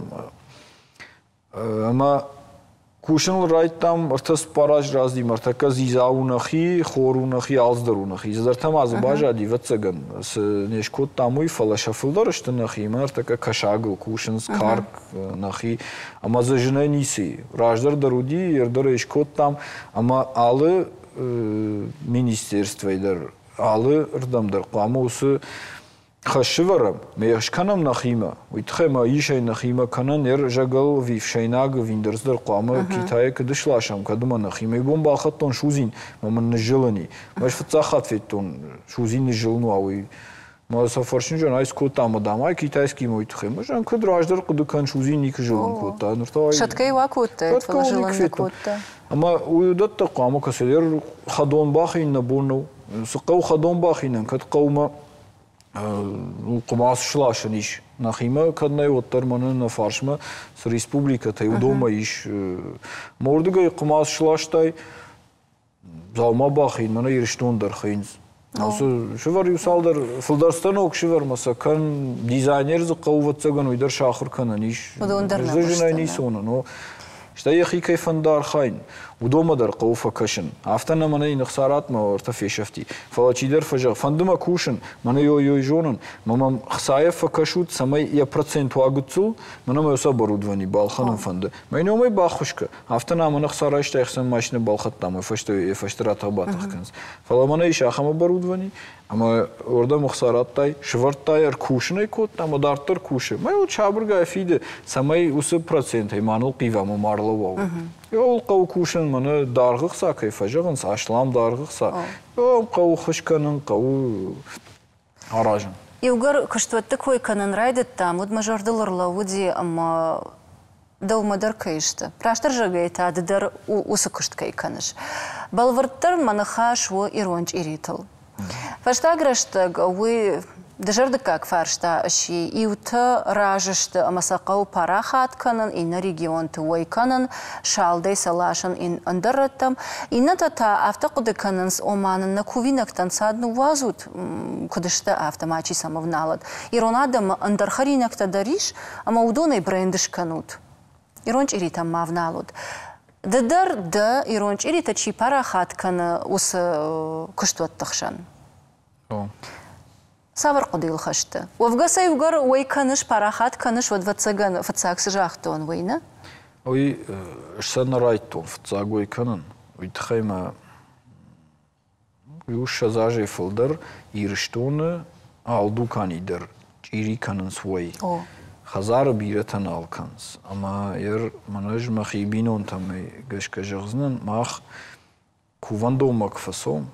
Ӕмӕ кусыныл райдыдтам ӕртӕ цыппар азы раздимӕ, ӕртӕккӕ дзидза у нӕхи, хор у нӕхи, алцыдӕр у нӕхи. Цыдӕртӕ ма дзы баззади, ӕвӕццӕгӕн, цы не скодтам, уый, фӕлӕ сӕ фылдӕр сты нӕхи. Ӕмӕ ӕртӕккӕ кӕсагыл кусынц, карк нӕхи. Ӕмӕ дзы зынӕй ницы и. Раздӕр дӕр уыди, ӕрдӕр ӕй скодтам. Ӕмӕ алы министерствӕйы дӕр, алы рдӕм дӕр хъуамӕ уыцы хӕссывӕрӕм, ме скӕнӕм нӕхимӕ. Уый тыххӕй ма ис ӕй нӕхимӕ кӕнӕн ӕр зӕгӕл ӕви ӕфсӕйнаг ӕви ӕндӕр цыдӕр хъуамӕ Китайӕ куыд сласӕм, кӕд ӕмӕ нӕхимӕ. Иу бон балхӕдтон судзин, ӕмӕ мын ныззылыни. Ӕз фыццаг хатт федтон, судзин ныззылын уа, уый. Мӕ сӕ фӕрсынджын ай скодта ӕмӕ дам ай китайскиймӕ уый тыххӕй. Мӕ зӕгъын, куыд раздӕр хъуыды кӕн, судзин никуы зылын кодта. Ныр та Сӕтгӕ уа кодтай, фӕлӕ зылын нӕ кодта. Ӕмӕ уый уыдӕттӕ хъуамӕ кӕцыдӕр хӕдон бахин нӕ бон нӕу. Цы хъӕуы хӕдон бахинӕн, кӕд хъӕумӕ хъуымац сласӕн ис. Нӕхимӕ кӕд нӕй, уӕддӕр мӕнӕ нӕ фарсмӕ цы республикӕтӕй, уыдонмӕ ис. Мӕ уырдыгӕй хъуымац сластай, дзаума бахин, мӕнӕ Ирыстон дӕр хӕйынц. Сывӕр иу цалдӕр, фылдӕр станок сывӕрмӕ сӕ кӕн, дизайнер дзы хъӕуы, ӕвӕццӕгӕн, уый дӕр сахуыр кӕнӕн ис. Уыдон дӕр нӕ Зынӕй ницы уынын. Стӕй йӕхи кӕй фӕнды архайын, уыдонмӕ дӕр хъӕуы фӕкӕсын. Афтӕ нӕ мӕнӕ йын ӕхца ратт, мӕ ӕртӕ фесӕфти. Фӕлӕ чидӕр фӕзӕгъы, фӕнды мӕ кусын, мӕнӕ ой-ой зонын, мӕ мӕм хцайӕ фӕкӕсут, цӕмӕй йӕ процент уа гыццыл, мӕнӕ мӕ уыцы оборудовани балхӕнын фӕнды. Мӕ номӕй баххуыс кӕ. Афтӕ нӕ мӕнӕ хца райста, ӕхсӕн машинӕ балхӕдтам, уый фӕстӕ йӕ фӕстӕ ратӕх-батӕх кӕнынц. Фӕлӕ мӕнӕ ис ахӕм оборудовани, ӕмӕ уырдӕм ӕхца радтай, сывӕрдтай, ӕркусын ӕй кодта ӕмӕ дарддӕр кусы. Мӕ уд сабыргай фиды, цӕмӕй уыцы процентӕй ма нылхъива ӕмӕ ма рлӕууа. Иуыл хъӕуы кусын, мӕнӕ даргъ ӕхца кӕй фӕзӕгъынц, аслам даргъ ӕхца. Хъӕуы хыз кӕнын, хъӕуы аразын. Иугӕр куыстуӕтты кой кӕнын райдыдтам, уӕд мӕ зӕрдыл ӕрлӕууыди ӕмӕ дӕумӕ дӕр кӕй сты. Растдӕр зӕгъгӕйӕ та ды дӕр уыцы куыст кӕй кӕныс. Бӕлвырддӕр мӕ ныхас у ирон чъиритыл. Фӕстаг рӕстӕг уый Дызӕрдыггаг фарста сси. Иутӕ разы сты ӕмӕ сӕ хъӕуы парахат кӕнын, иннӕ регионты уӕй кӕнын, салдӕй сӕ ласын ӕндӕр рӕттӕм. Иннӕтӕ та афтӕ хъуыды кӕнынц, ома нын нӕ кувинӕгтӕн цад ныууадзут, куыд сты, афтӕ мачи сӕм ӕвналӕд. Ирон адӕммӕ ӕндӕр хӕринӕгтӕ дӕр ис, ӕмӕ уыдонӕй бренд скӕнут. Ирон чъиритӕм ма вналут. Ды дӕр дӕ ирон чъиритӕ чи парахат кӕны, уыцы куыстуӕтты хсӕн. Цавӕр хъуыдыйыл хӕст дӕ? Уӕвгӕ сӕ иугӕр уӕй кӕныс, парахат кӕныс, уӕд, ӕвӕццӕгӕн, фыццаг цы загътон, уый нӕ? Уый сӕ нӕ райдтон фыццаг уӕй кӕнын. Уый тыххӕй мӕ иу ссӕдз азӕй фылдӕр Ирыстоны алы дукани дӕр чъири кӕнынц уӕй. Хӕдзары бирӕтӕ нал кӕнынц. Ӕмӕ ер мӕнӕ ӕз мӕхи бинонтӕм гӕсгӕ зӕгъдзынӕн, мах кувӕндонмӕ куы фӕцӕуӕм,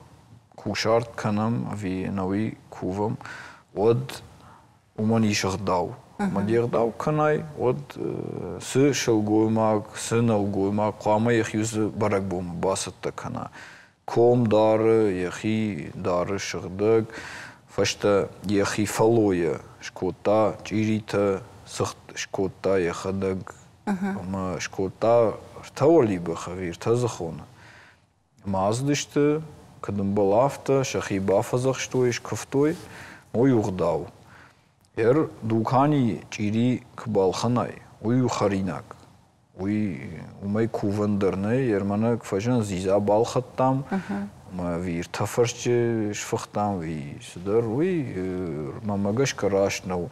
кусарт кӕнӕм ӕви ӕнӕуи кувӕм, уӕд уымӕн ис ӕгъдау. Ӕмӕ де гъдау кӕнай, уӕд цы сылгоймаг, цы нӕлгоймаг хъуамӕ йӕхи уыцы бӕрӕгбонмӕ бацӕттӕ кӕна. Ком дары, йӕхи дары сыгъдӕг, фӕстӕ йӕхи фӕллойӕ скодта чъиритӕ, цыхт скодта йӕхӕдӕг ӕмӕ скодта ӕртӕ уӕлибӕх ӕви ӕртӕ дзыхоны. Ӕмӕ ацыдысты, куыд ӕмбӕлы, афтӕ, сӕхи бафӕдзӕхстой, скуывтой, уый у ӕгъдау. Ер дукани чъири куы балхӕнай, уый у хӕринаг. Уый уымӕй кувӕн дӕр нӕй, ер мӕнӕ куы фӕзыны дзидза балхӕдтам, ӕмӕ ӕви ӕртӕ фӕрсчы сфыхтам, ӕви цыдӕр, уый мӕнмӕ гӕсгӕ раст нӕу.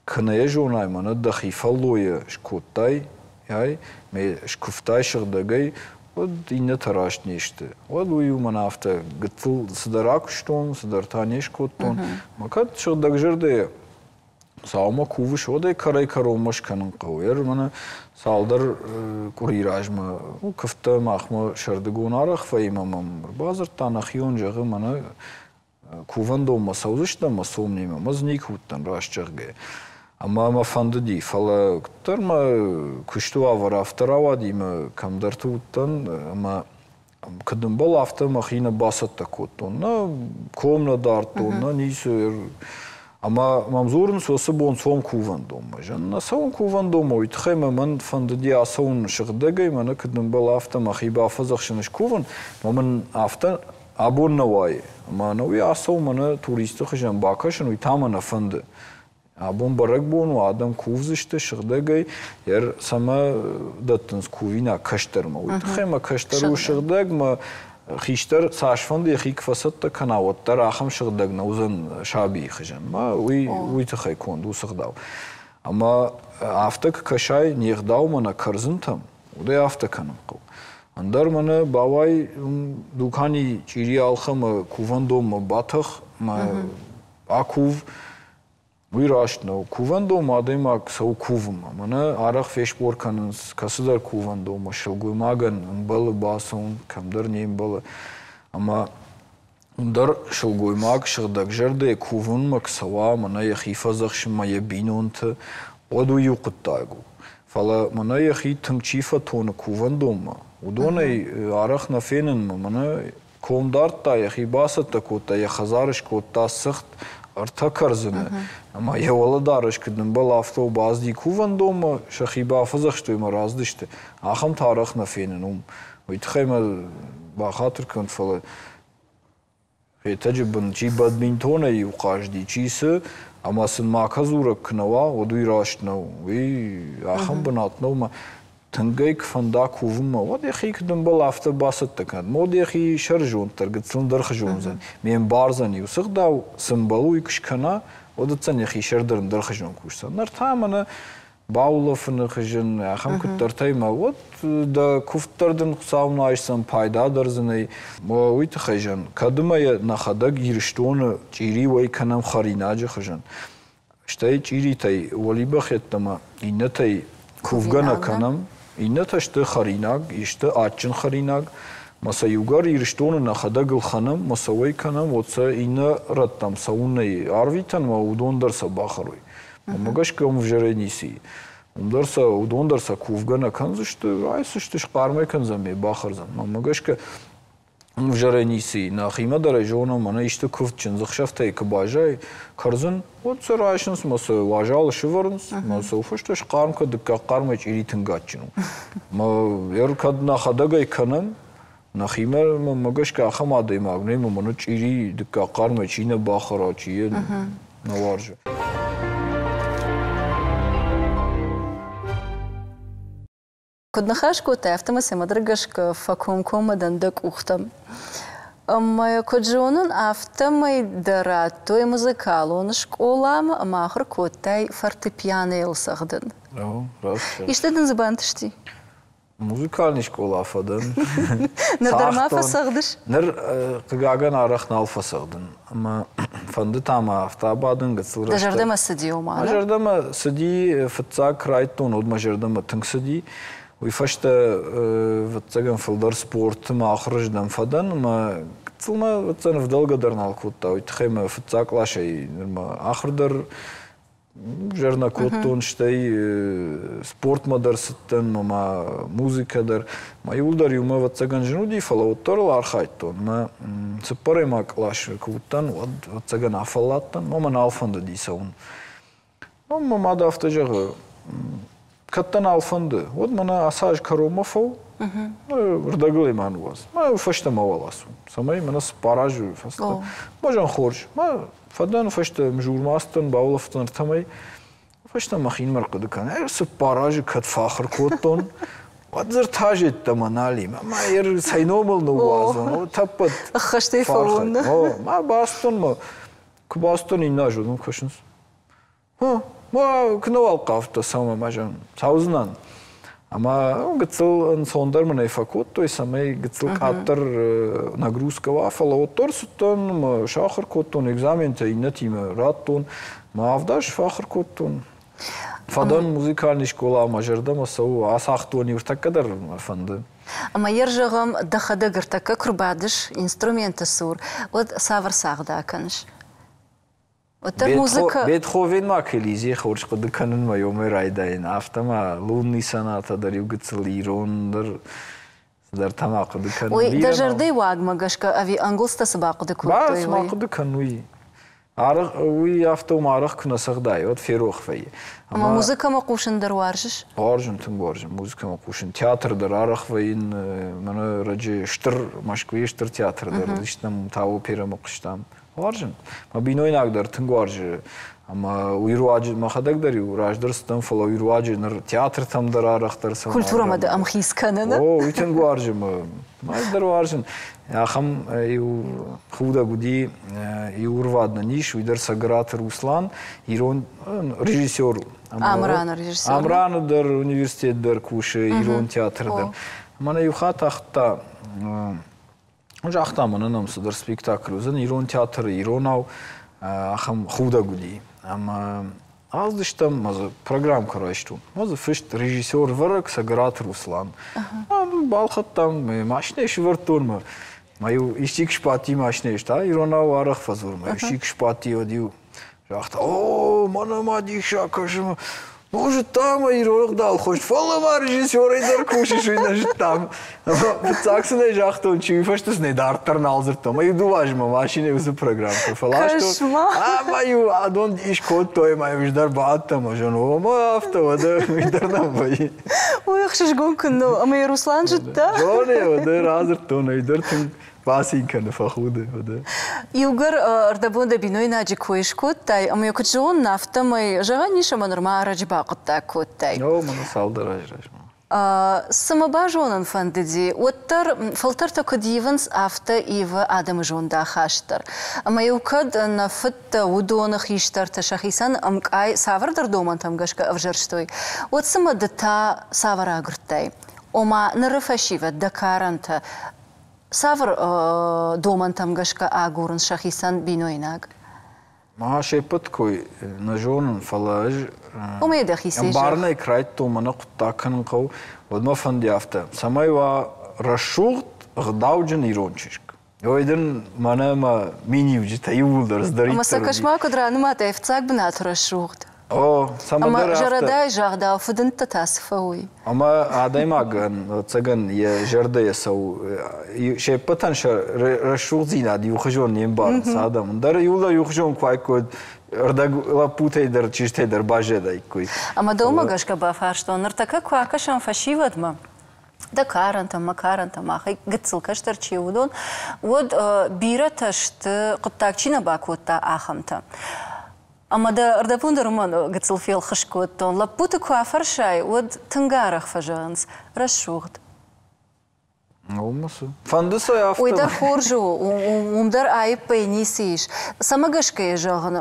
Куы нӕ йӕ зонай, мӕнӕ дӕхи фӕллойӕ скодтай, ай, ме скуывтай сыгъдӕгӕй, уӕд иннӕтӕ раст не сты. Уӕд уый у мӕнӕ афтӕ гыццыл цыдӕр акуыстон, цыдӕр та не скодтон. Мӕ кӕд сыгъдӕгзӕрдӕйӕ Хуыцаумӕ кувыс, уӕд ӕй кӕрӕй-кӕронмӕ скӕнын хъӕуы. Ер мӕнӕ цалдӕр къуыри размӕ куывдтӕ махмӕ сӕрдыгон арӕх вӕййы ӕмӕ мӕм ӕрбадзырдта нӕхион, зӕгъы, мӕнӕ кувӕндонмӕ цӕудзыстӕм ӕмӕ цом немӕ. Ӕз никуы уыдтӕн, раст зӕгъгӕ. Ӕмӕ мӕ фӕндыди, фӕлӕ куыддӕр мӕ куысты уавӕр афтӕ рауади, мӕ кӕмдӕрты уыдтӕн ӕмӕ куыд ӕмбӕлы, афтӕ мӕхи нӕ бацӕттӕ кодтон. Нӕ ком нӕ дардтон, нӕ ницы. Ӕмӕ мӕм дзурынц, уыцы бон цом кувӕндонмӕ. Зӕгъын, нӕ цӕуын кувӕндонмӕ, уый тыххӕй мӕ мӕн фӕндыди ацӕуын сыгъдӕгӕй, мӕнӕ куыд ӕмбӕлы, афтӕ мӕхи бафӕдзӕхсын, скувын. Ӕмӕ мын афтӕ абон нӕ уайы. Ӕмӕ ӕнӕуи ацӕуын, мӕнӕ туристы хуызӕн бакӕсын, уый та мӕ нӕ фӕнды. Абон бӕрӕгбон у, адӕм кувдзысты сыгъдӕгӕй, ер цӕмӕ дӕттынц кувинаг кӕстӕрмӕ. Уый тыххӕй мӕ кӕстӕр у сыгъдӕг, мӕ хистӕр цасфӕнды йӕхи куы фӕцӕттӕ кӕна, уӕддӕр ахӕм сыгъдӕг нӕ уыдзӕн сабийы хуызӕн. Мӕ уый, уый тыххӕй конд у сыгъдау. Ӕмӕ афтӕ куы кӕсай не гъдаумӕ, нӕ кӕрдзынтӕм, уӕд ӕй афтӕ кӕнын хъӕуы. Ӕндӕр мӕнӕ бауай дукани чъири ӕлхӕ мӕ кувӕндонмӕ батӕх, мӕ акув. Уый раст нӕу. Кувӕндонмӕ адӕймаг цӕуы кувынмӕ. Мӕнӕ арӕх фесбор кӕнынц кӕцыдӕр кувӕндонмӕ сылгоймагӕн ӕмбӕлы бацӕуын, кӕмдӕр не мбӕлы. Ӕмӕ уым дӕр сылгоймаг сыгъдӕгзӕрдӕйӕ кувынмӕ куы цӕуа, мӕнӕ йӕхи фӕдзӕхсынмӕ йӕ бинонты, уӕд уый иу хъуыддаг у. Фӕлӕ мӕнӕ йӕхи тынг чи фӕтоны кувӕндонмӕ, уыдонӕй арӕх нӕ фенын, мӕнӕ ком дардта, йӕхи бацӕттӕ кодта, йӕ хӕдзары скодта цыхт, ӕртӕ кӕрдзыны, ӕмӕ йӕ уӕлӕдарӕс куыд ӕмбӕлы, афтӕ бацыди кувӕндонмӕ, сӕхи бафӕдзӕхстой ӕмӕ рацыдысты. Ахӕмтӕ арӕх нӕ фенын уым. Уый тыххӕй мӕ бахатыр кӕнут, фӕлӕ Хетӕджы бын чи бадминтонӕй-иу хъазыди, чи цы, ӕмӕ сын макӕ дзурӕг куы нӕ уа, уӕд уый раст нӕу. Уый ахӕм бынат нӕу, ӕмӕ тынг ӕй куы фӕнда кувынмӕ, уӕд йӕхи куыд ӕмбӕлы, афтӕ бацӕттӕ кӕнӕд. Мод йӕхи сӕрызонд дӕр гыццыл ӕндӕр хуызон уыдзӕн. Ме мбардзӕн иу цы гъдау, цы ӕмбӕлы, уый куы скӕна, уӕд уыдзӕн йӕхи сӕр дӕр ӕндӕр хуызон кусдзӕн. Ныр та мӕнӕ баулӕфыны хызын, ахӕм куыддӕртӕй мӕ уӕд дӕ куывд дӕр дын Хуыцау нӕ айсдзӕн, пайда дӕр дзы нӕй. Уый тыххӕй зӕн, кӕд ӕмӕ йӕ нӕхӕдӕг Ирыстоны чъири уӕй кӕнӕм хӕринаджы хуызӕн, стӕй чъиритӕй уӕлибӕх йеддӕмӕ иннӕтӕй кувгӕ нӕ кӕнӕм, иннӕтӕ сты хӕринаг, исты адджын хӕринаг, мӕ сӕ иугӕр Ирыстоны нӕхӕдӕг ӕлхӕнӕм, мӕ сӕ уӕй кӕнӕм, уӕд сӕ иннӕ рӕттӕм цӕуын нӕй арвитӕн, мӕ уыдон дӕр сӕ бахӕрой. Уымӕ гӕсгӕ уым ӕвзӕрӕй ницы и. Уым дӕр сӕ, уыдон дӕр сӕ кувгӕ нӕ кӕндзысты, райсдзысты, схъармӕй кӕндзӕн, ме бахӕрдзӕн. Мӕнмӕ гӕсгӕ Ӕвзӕрӕй ницы и. Нӕхимӕ дӕр ӕй зонӕм, мӕнӕ исты куывд чындзыхсӕвтӕй куы баззайы кӕрдзын, уӕд сӕ райсынц мӕ сӕ уазалы сывӕрынц, мӕ сӕ фӕстӕ схъарм кӕд дыккаг хъармӕй чъири тынг адджын у. Мӕ ер кӕд нӕхӕдӕг ӕй кӕнӕм, нӕхимӕ мӕ гӕсгӕ ахӕм адӕймаг нӕй, мӕ мӕнӕ чъири дыккаг хъармӕй чи нӕ бахӕра, чи йӕ нӕ уарзы. Куыд ныхас кодтай, афтӕмӕй цӕмӕдӕр гӕсгӕ фӕкомкоммӕ дӕн дӕ къухтӕм. Ӕмӕ куыд зонын, афтӕмӕй дӕ радтой музыкалон скъоламӕ ӕмӕ ахуыр кодтай фортепианойыл цӕгъдын. Исты дын дзы бантысти? Музыкальный скъола фӕдӕн. Ныр дӕр ма фӕцӕгъдыс? Ныр, хъыгагӕн, арӕх нал фӕцӕгъдын. Ӕмӕ фӕнды та мӕ афтӕ абадын гыццыл рӕстӕг. Дӕ зӕрдӕмӕ цыди ома? Мӕ зӕрдӕмӕ цыди, фыццаг райдтон, уӕд мӕ зӕрдӕмӕ тынг цыди. Уый фӕстӕ, ӕвӕццӕгӕн, фылдӕр спорты мӕ ахуырыздӕм фӕдӕн ӕмӕ гыццыл мӕ, ӕвӕццӕгӕн, ӕвдӕлгӕ дӕр нал кодта. Уый тыххӕй мӕ фыццаг къласӕй нырмӕ ахуыр дӕр ӕвзӕр нӕ кодтон, стӕй спортмӕ дӕр цыдтӕн, ма музыкӕ дӕр. Мӕ иуылдӕр иумӕ, ӕвӕццӕгӕн, зын уыди, фӕлӕ уӕддӕр ыл архайдтон. Мӕ цыппӕрӕймаг къласы куы уыдтӕн, уӕд, ӕвӕццӕгӕн, афӕлладтӕн, мӕ мӕ нал фӕндыди цӕуын. Мӕ мад афтӕ зӕгъы, кӕд дӕ нал фӕнды, уӕд мӕнӕ ацы аз кӕронмӕ фӕу, рдӕгыл ӕй ма ныууадз. Мӕ фӕстӕмӕ уал ацу, цӕмӕй мӕнӕ цыппар азы фӕстӕ. Мӕ хорз. Мӕ фӕдӕн фӕстӕ мзурмӕ ацыдтӕн, баулӕфтӕн ӕртӕмӕй. Фӕстӕ мӕхинмӕ ӕрхъуыды кӕн. Цыппар азы кӕд фӕахуыр кодтон, уӕд дзы ӕртӕ азы нал и. Мӕ ер цӕй номыл ныууадзон, тӕппӕт. Ӕххӕстӕй фӕуон. Мӕ бацыдтон, мӕ куы бацыдтон иннӕ аз, уыдон кӕсынц. Куы нӕуал хъавдтӕ цӕуын, ӕмӕ зӕгъын, цӕудзынӕн. Ӕмӕ гыццыл ӕнцондӕр мын ӕй фӕкодтой, цӕмӕй гыццыл къаддӕр нагрузка уа, фӕлӕ уӕддӕр цыдтӕн, мӕ сахуыр кодтон, экзаментӕ иннӕтимӕ радтон, мӕ авд аз фӕахуыр кодтон. Фӕдӕн музыкальный скъола, мӕ зӕрдӕмӕ цӕуы, ацагътон ӕртӕккӕ дӕр мӕ фӕнды. Ӕмӕ йӕ зӕгъӕм, дӕхӕдӕг ӕртӕккӕ куы рбадыс инструменты цур, уӕд цавӕр цагъд акӕныс? Уӕддӕр музыка... Бетховен ма Келизе хорз хъуыды кӕнынмӕ йомӕй райдайын, афтӕ ма лунный соната дӕр иу гыццыл ирон дӕр цыдӕртӕ ма хъуыды кӕнын. Ой, дӕ зӕрдӕйы уагмӕ гӕсгӕ ӕви ӕнгуылдзтӕ цы бахъуыды кодтой? Ба, цы ма хъуыды кӕн, уый. Арӕх, уый афтӕ уым арӕх куы нӕ цӕгъдай, уӕд ферох вӕййы. Ӕмӕ музыкӕмӕ хъусын дӕр уарзыс? Уарзын, тынг уарзын музыкӕмӕ хъусын. Театр дӕр арӕх вӕййын, мӕнӕ раджы стыр, Мӕскуыйы стыр театр дӕр уыдыстӕм, та оперӕмӕ хъуыстам. Уарзын. Мӕ бинойнаг дӕр тынг уарзы. Ӕмӕ уый руаджы мӕхӕдӕг дӕр-иу раздӕр цыдтӕн, фӕлӕ уый руаджы ныр театртӕм дӕр арӕхдӕр цӕуын. Культурӕмӕ дӕ ӕмхиц кӕныны? О, уый тынг уарзы мӕ. Ӕз дӕр уарзын. Ахӕм иу худӕг уыди, иу ӕрвад нын ис, уый дӕр Цӕгӕраты Руслан, ирон режиссер у. Амраны режиссер. Амраны дӕр университет дӕр кусы, ирон театры дӕр. Мӕнӕ иу хатт ахуыдта, загъта, мӕнӕ нӕм цыдӕр спектакль уыдзӕн ирон театры, иронау, ахӕм худӕг уыди. Ӕмӕ аздыстӕм, мӕ дзы программкӕ райстон. Мӕ дзы фыст режиссер вӕрӕг Цӕгӕраты Руслан. Балхӕдтам, мӕ машинӕйы сывӕрдтон мӕ. Мӕ-иу исчи куы сбадти машинӕйы, та иронау арӕх фӕдзур, мӕ исчи куы сбадти, уӕд-иу загъта, о, мӕнӕ ма диссаг кӕсы, ну, зыдтам ӕй ирон ӕгъдау хорз, фӕлӕ ма режиссерӕй дӕр кусыс, уый нӕ зыдтам. Фыццаг сын ӕй загътон, чи уый фӕстӕ сын ӕй дарддӕр нал дзырдтон. Мӕ иу дыууӕ азмӕ машинӕйы уыцы программӕ фӕластон. Ӕмӕ-иу адон дис кодтой, ӕмӕ-иу ӕз дӕр бадтӕн, ӕмӕ зӕгъын, о, мӕ афтӕ, уӕдӕ уый дӕр нӕм вӕййы. Уый ӕхсызгон куыннӕ у, ӕмӕ йӕ Руслан зыдта? Зоны, уӕдӕ радзырдтон, ӕй дӕр тынг бацин кӕны, фӕхуды, уӕдӕ. Иугӕр ӕрдӕбон дӕ бинойнаджы кой скодтай, ӕмӕ йӕ куыд зонын, афтӕмӕй, зӕгъӕн ис, ӕмӕ нырма ӕрӕджы бахъуыддаг кодтай. О, мӕнӕ цалдӕр азы размӕ. Цы мӕ базонын фӕндыди, уӕддӕр фӕлтӕртӕ куыд ивынц, афтӕ ивы адӕмы зондахаст дӕр. Ӕмӕ-иу кӕд нӕ фыдтӕ, уыдоны хистӕртӕ сӕхицӕн ӕмкъай цавӕрдӕр домӕнтӕм гӕсгӕ ӕвзӕрстой, уӕд цымӕ ды та цавӕр агуырдтай? Ома ныры фӕсивӕд, дӕ карӕнтӕ цавӕр домӕнтӕм гӕсгӕ агурынц сӕхицӕн бинойнаг? Ма се ппӕт кой нӕ зонын, фӕлӕ ӕз ӕмбарынӕй куы райдыдтон, мӕнӕ хъуыддаг кӕнын хъӕуы, уӕд мӕ фӕнди афтӕ, цӕмӕй уа рӕсугъд, ӕгъдауджын ирон чызг. Ой дын мӕнӕ мӕ миниуджытӕ иууылдӕр цыдӕриддӕр. Ӕмӕ сӕ кӕс-ма, куыд ранымадтай фыццаг бынаты рӕсугъд. О, цӕмӕндӕр афтӕ. Зӕрӕдайы загъдау, фыдындтӕ та цы фӕуой? Ӕмӕ адӕймагӕн, ӕцӕгӕн, йӕ зӕрдӕйӕ цӕуы. Се ппӕтӕн сӕ рӕсугъддзинад иухуызон не мбарынц адӕм. Дӕр иууылдӕр иухуызон куы уаиккой, ӕрдӕг лӕппутӕй дӕр, чызджытӕй дӕр баззадаиккой. Ӕмӕ дӕумӕ гӕсгӕ бафарстон, ныртӕккӕ куы акӕсӕм фӕсивӕдмӕ, дӕ карӕнтӕм, мӕ карӕнтӕм, махӕй гыццыл кӕстӕр чи у, уыдон, уӕд бирӕтӕ сты, хъуыддаг чи нӕ бакодта, ахӕмтӕ. Ӕмӕ дӕ ӕрдӕбон дӕр уымӕн гыццыл фелхыскъ кодтон. Лӕппуты куы афӕрсай, уӕд тынг арӕх фӕзӕгъынц рӕсугъд. Фӕнды сӕ афтӕ. Уый дӕр хорз у, уым дӕр аиппӕй ницы ис. Цӕмӕ гӕсгӕ йӕ зӕгъын,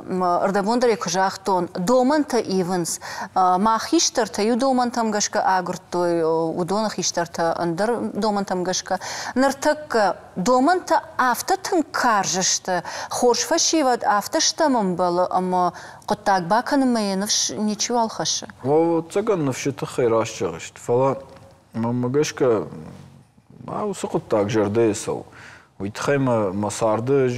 ӕрдӕбон дӕр ӕй куы загътон, домӕнтӕ ивынц. Мах хистӕртӕ иу домӕнтӕм гӕсгӕ агуырдтой, уыдоны хистӕртӕ ӕндӕр домӕнтӕм гӕсгӕ. Ныртӕккӕ домӕнтӕ афтӕ тынг карз сты, хорз фӕсивӕд афтӕ стӕм ӕмбӕлы ӕмӕ хъуыддаг бакӕнынмӕ йӕ ныфс ничиуал хӕссы. Ӕвӕццӕгӕн ныфсы тыххӕй раст зӕгъыс, фӕлӕ мӕнмӕ гӕсгӕ уыцы хъуыддаг зӕрдӕйы цӕуы. Уый тыххӕй мӕ мӕ царды ӕз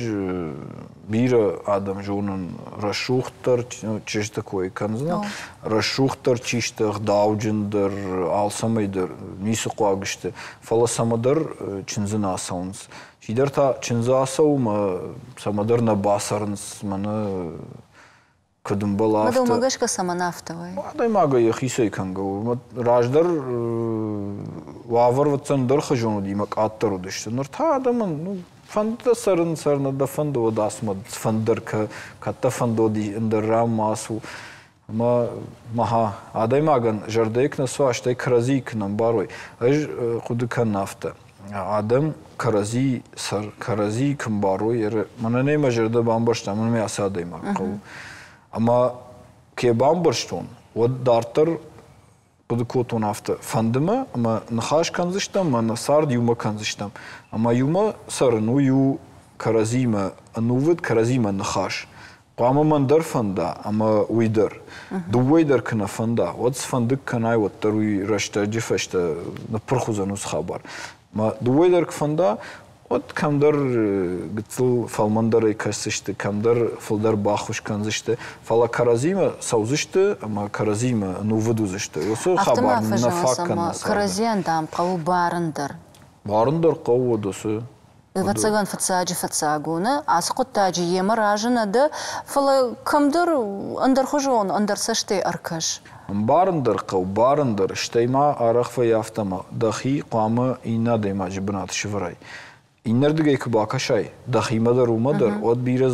бирӕ адӕм зонын рӕсугъддӕр чызджыты кой кӕндзынӕн. Рӕсугъддӕр чи сты, ӕгъдауджындӕр, алцӕмӕй дӕр ницы хъуаг сты, фӕлӕ цӕмӕдӕр чындзы нӕ ацӕуынц. Чидӕр та чындзы ацӕуы мӕ цӕмӕдӕр нӕ бацӕрынц, мӕнӕ куыд ӕмбӕлы, афтӕ. Мадӕлмӕ гӕсгӕ цӕмӕн афтӕ вӕййы? Адӕймагӕй йӕхицӕй кӕнгӕ у. Раздӕр уавӕр ӕвӕццӕн ӕндӕрхуызон уыди ӕмӕ къаддӕр уыдысты. Ныр та адӕмӕн ну, фӕнды дӕ цӕрын, цӕр, нӕ дӕ фӕнды, уӕд ацу, фӕнды дӕр кӕд дӕ фӕнды, уӕд ӕндӕр ран ма ацу. Ӕмӕ маха адӕймагӕн зӕрдӕйы куы нӕ цӕуа, стӕй кӕрӕдзийы куы нӕ ӕмбарой. Ӕз хъуыды кӕнын афтӕ. Адӕм кӕрӕдзи сӕр, кӕрӕдзийы куы мбарой, мӕнӕн ӕй мӕ зӕрдӕ бамбӕрста, мӕнӕн мӕ ацы адӕймаг хъӕуы. Ӕмӕ кӕй бамбӕрстон, уӕд дарддӕр хъуыды кодтон афтӕ: фӕнды мӕ, ӕмӕ ныхас кӕндзыстӕм, ӕмӕ нӕ цард иумӕ кӕндзыстӕм. Ӕмӕ иумӕ цӕрын уый у кӕрӕдзимӕ ӕнувыд, кӕрӕдзимӕ ныхас. Хъуамӕ мӕн дӕр фӕнда ӕмӕ уый дӕр. Дыууӕ дӕр куы нӕ фӕнда, уӕд цыфӕнды кӕнай, уӕддӕр уый рӕстӕджы фӕстӕ ныппырх уыдзӕн уыцы хабар. Мӕ дыууӕ дӕр куы фӕнда, уӕд кӕмдӕр гыццыл фӕлмӕндӕрӕй кӕсдзысты, кӕмдӕр фылдӕр баххуыс кӕндзысты, фӕлӕ кӕрӕдзимӕ цӕудзысты ӕмӕ кӕрӕдзимӕ ӕнувыд уыдзысты. Уыцы хабар нӕ фаг кӕны. Кӕрӕдзийӕн, дам, хъӕуы барын дӕр. Барын дӕр хъӕуы, уӕд уыцы Ӕвӕццӕгӕн, фыццаджы фыццаг у, нӕ? Ацы хъуыддаджы йемӕ разы нӕ дӕ, фӕлӕ кӕмдӕр ӕндӕрхуызон, ӕндӕр цӕстӕй ӕркӕс. Ӕмбарын дӕр хъӕуы, барын дӕр, стӕй ма арӕх вӕййы афтӕ, ӕмӕ дӕхи хъуамӕ иннӕ адӕймаджы бынаты сӕвӕрай. Иннӕрдыгӕй куы бакӕсай, дӕхимӕ дӕр, уымӕ дӕр, уӕд бирӕ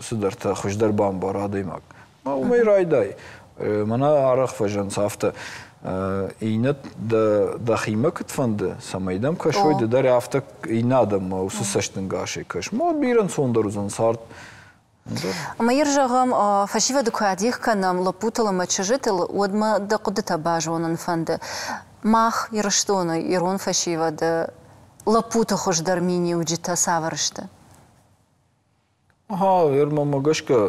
цыдӕртӕ хуыздӕр бамбары адӕймаг. Уымӕй райдай. Мӕнӕ арӕх фӕзӕгъынц афтӕ, иннӕ дӕхимӕ куыд фӕнды, цӕмӕй дӕм кӕсой, ды дӕр афтӕ иннӕ адӕммӕ уыцы цӕстӕнгасӕй кӕс. Ма бирӕ ӕнцондӕр уыдзӕн цард. Ӕмӕ ир зӕгъӕм, фӕсивӕды куы адих кӕнӕм лӕппутыл ӕмӕ чызджытыл, уӕд мӕ дӕ хъуыдытӕ базонын фӕнды. Мах, Ирыстоны ирон фӕсивӕды лӕппуты хуыздӕр миниуджытӕ цавӕр сты? Ага, мӕнмӕ гӕсгӕ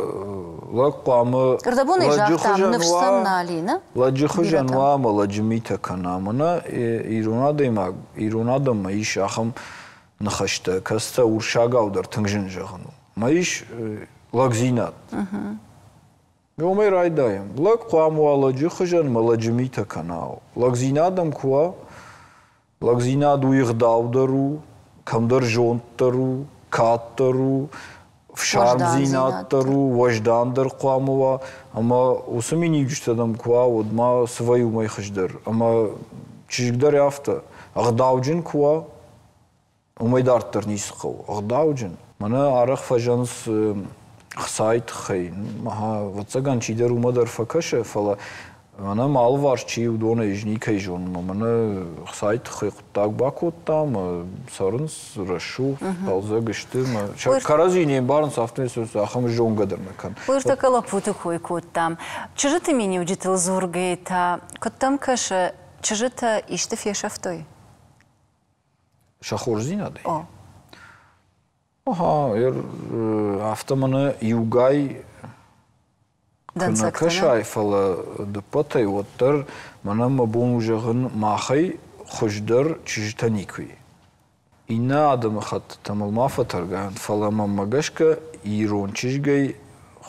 лӕг хъуамӕ Ӕрдӕбонӕй загътам, ныфс сӕм нал и, нӕ? Лӕджы хуызӕн уа ӕмӕ лӕджы митӕ кӕна. Мӕнӕ ирон адӕймаг, ирон адӕммӕ ис ахӕм ныхӕстӕ, кӕцытӕ урсагау дӕр тынг зын зӕгъын у. Мӕ ис лӕгдзинад. Уымӕй райдайӕм. Лӕг хъуамӕ уа лӕджы хуызӕн ӕмӕ лӕджы митӕ кӕна. Лӕгдзинад ӕм куы уа, лӕгдзинад уый ӕгъдау дӕр у, кӕмдӕр зонд дӕр у, кад дӕр у, фсармдзинад дӕр у, уӕздан дӕр хъуамӕ уа. Ӕмӕ уыцы миниуджытӕ дӕм куы уа, уӕд ма цы вӕййы уымӕй хуыздӕр. Ӕмӕ чызг дӕр афтӕ, ӕгъдауджын куы уа, уымӕй дарддӕр ницы хъӕуы. Ӕгъдауджын. Мӕнӕ арӕх фӕзӕгъынц хцайы тыххӕй. Ӕвӕццӕгӕн, чидӕр уымӕ дӕр фӕкӕсы, фӕлӕ мӕнӕ мӕ алыварс чи уыдонӕй ӕз никӕй зонын. Мӕнӕ хцайы тыххӕй хъуыддаг бакодтам, цӕрынц рӕсугъд, хъӕлдзӕг сты. Кӕрӕдзи не мбарынц, афтӕмӕй ахӕм зонгӕ дӕр нӕ кӕн. Уый ӕртӕккӕ лӕппуты кой кодтам. Чызджыты миниуджытыл дзургӕйӕ та, куыд дӕм кӕсы, чызджытӕ исты фесӕфтой? Сӕ хорздзинадӕй? О. Ага, афтӕ мӕнӕ иугай куы нӕ кӕсай, фӕлӕ дыппӕтӕй уӕддӕр мӕнӕ мӕ бон у зӕгъын, махӕй хуыздӕр чызджытӕ никуы и. Иннӕ адӕмыхӕттытӕ мыл ма фӕтӕргайӕнт, фӕлӕ мӕнмӕ гӕсгӕ ирон чызгӕй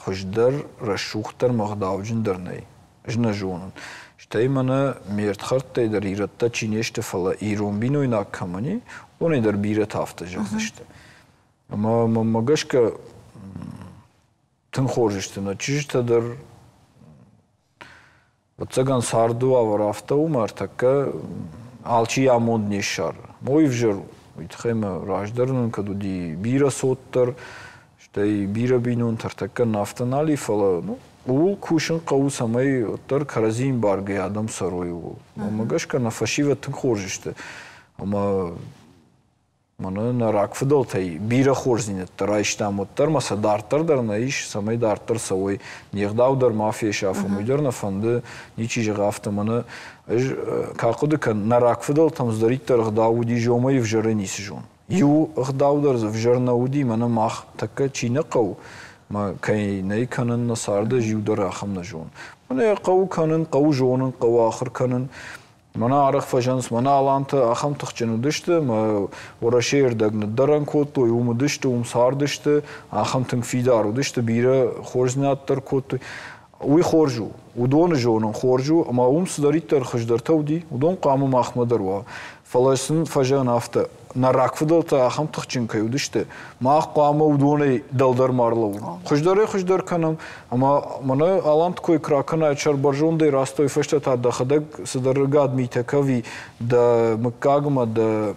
хуыздӕр, рӕсугъддӕр ӕмӕ ӕгъдауджындӕр нӕй. Ӕз нӕ зонын. Стӕй мӕнӕ ме рдхӕрдтӕй дӕр ирӕттӕ чи не сты, фӕлӕ ирон бинойнаг кӕмӕн и, уыдонӕй дӕр бирӕтӕ афтӕ зӕгъдзысты. Ӕмӕ мӕнмӕ гӕсгӕ тынг хорз сты нӕ чызджытӕ дӕр. Ӕвӕццӕгӕн царды уавӕр афтӕ у, ӕмӕ ӕртӕккӕ алчи амонд не ссары. Уый ӕвзӕр у. Уый тыххӕй мӕ раздӕр нын кӕд уыди бирӕ цот дӕр, стӕй бирӕ бинонтӕ ӕртӕккӕ нын афтӕ нал и, фӕлӕ ну, ууыл кусын хъӕуы, цӕмӕй уӕддӕр кӕрӕдзийы ӕмбаргӕйӕ адӕм цӕрой ууыл. Уымӕ гӕсгӕ нӕ фӕсивӕд тынг хорз сты. Ӕмӕ мӕнӕ нӕ рагфыдӕлтӕй бирӕ хорздзинӕдтӕ райстам, уӕддӕр ма сӕ дарддӕр дӕр нӕ ис, цӕмӕй дарддӕр цӕуой. Не гъдау дӕр ма фесафӕм, уый дӕр нӕ фӕнды, ничи зӕгъы афтӕ. Мӕнӕ ӕз ка хъуыды кӕн, нӕ рагфыдӕлтӕм цыдӕриддӕр ӕгъдау уыди, зомӕй ӕвзӕрӕй ницы зон. Иу ӕгъдау дӕр дзы ӕвзӕр нӕ уыди, мӕнӕ мах тӕккӕ чи нӕ хъӕуы, мӕ кӕй нӕ кӕнын нӕ царды, ӕз иу дӕр ахӕм нӕ зонын. Мӕнӕ йӕ хъӕуы кӕнын, хъӕуы зонын, хъӕуы ахуыр кӕнын. Мӕнӕ арӕх фӕзӕнынц, мӕнӕ алантӕ ахӕм тыхджын уыдысты, ӕмӕ Уӕрӕсейы рдӕг ныддӕрӕн кодтой, уым уыдысты, уым цардысты, ахӕм тынг фидар уыдысты, бирӕ хорздзинад дӕр кодтой. Уый хорз у, уыдоны зонын хорз у, ӕмӕ уым цыдӕриддӕр хуыздӕртӕ уыди, уыдон хъуамӕ махмӕ дӕр уа. Фӕлӕ сын фӕзӕгъын афтӕ, нӕ рагфыдӕлтӕ ахӕм тыхджын кӕй уыдысты, мах хъуамӕ уыдонӕй дӕлдӕр ма рлӕууӕм. Хуыздӕрӕй-хуыздӕр кӕнӕм, ӕмӕ мӕнӕ аланты кой куы ракӕнай, сӕрбӕрзондӕй рацыдтой фӕстӕ та дӕхӕдӕг цыдӕр ӕгад митӕ кӕви, дӕ мыггагмӕ, дӕ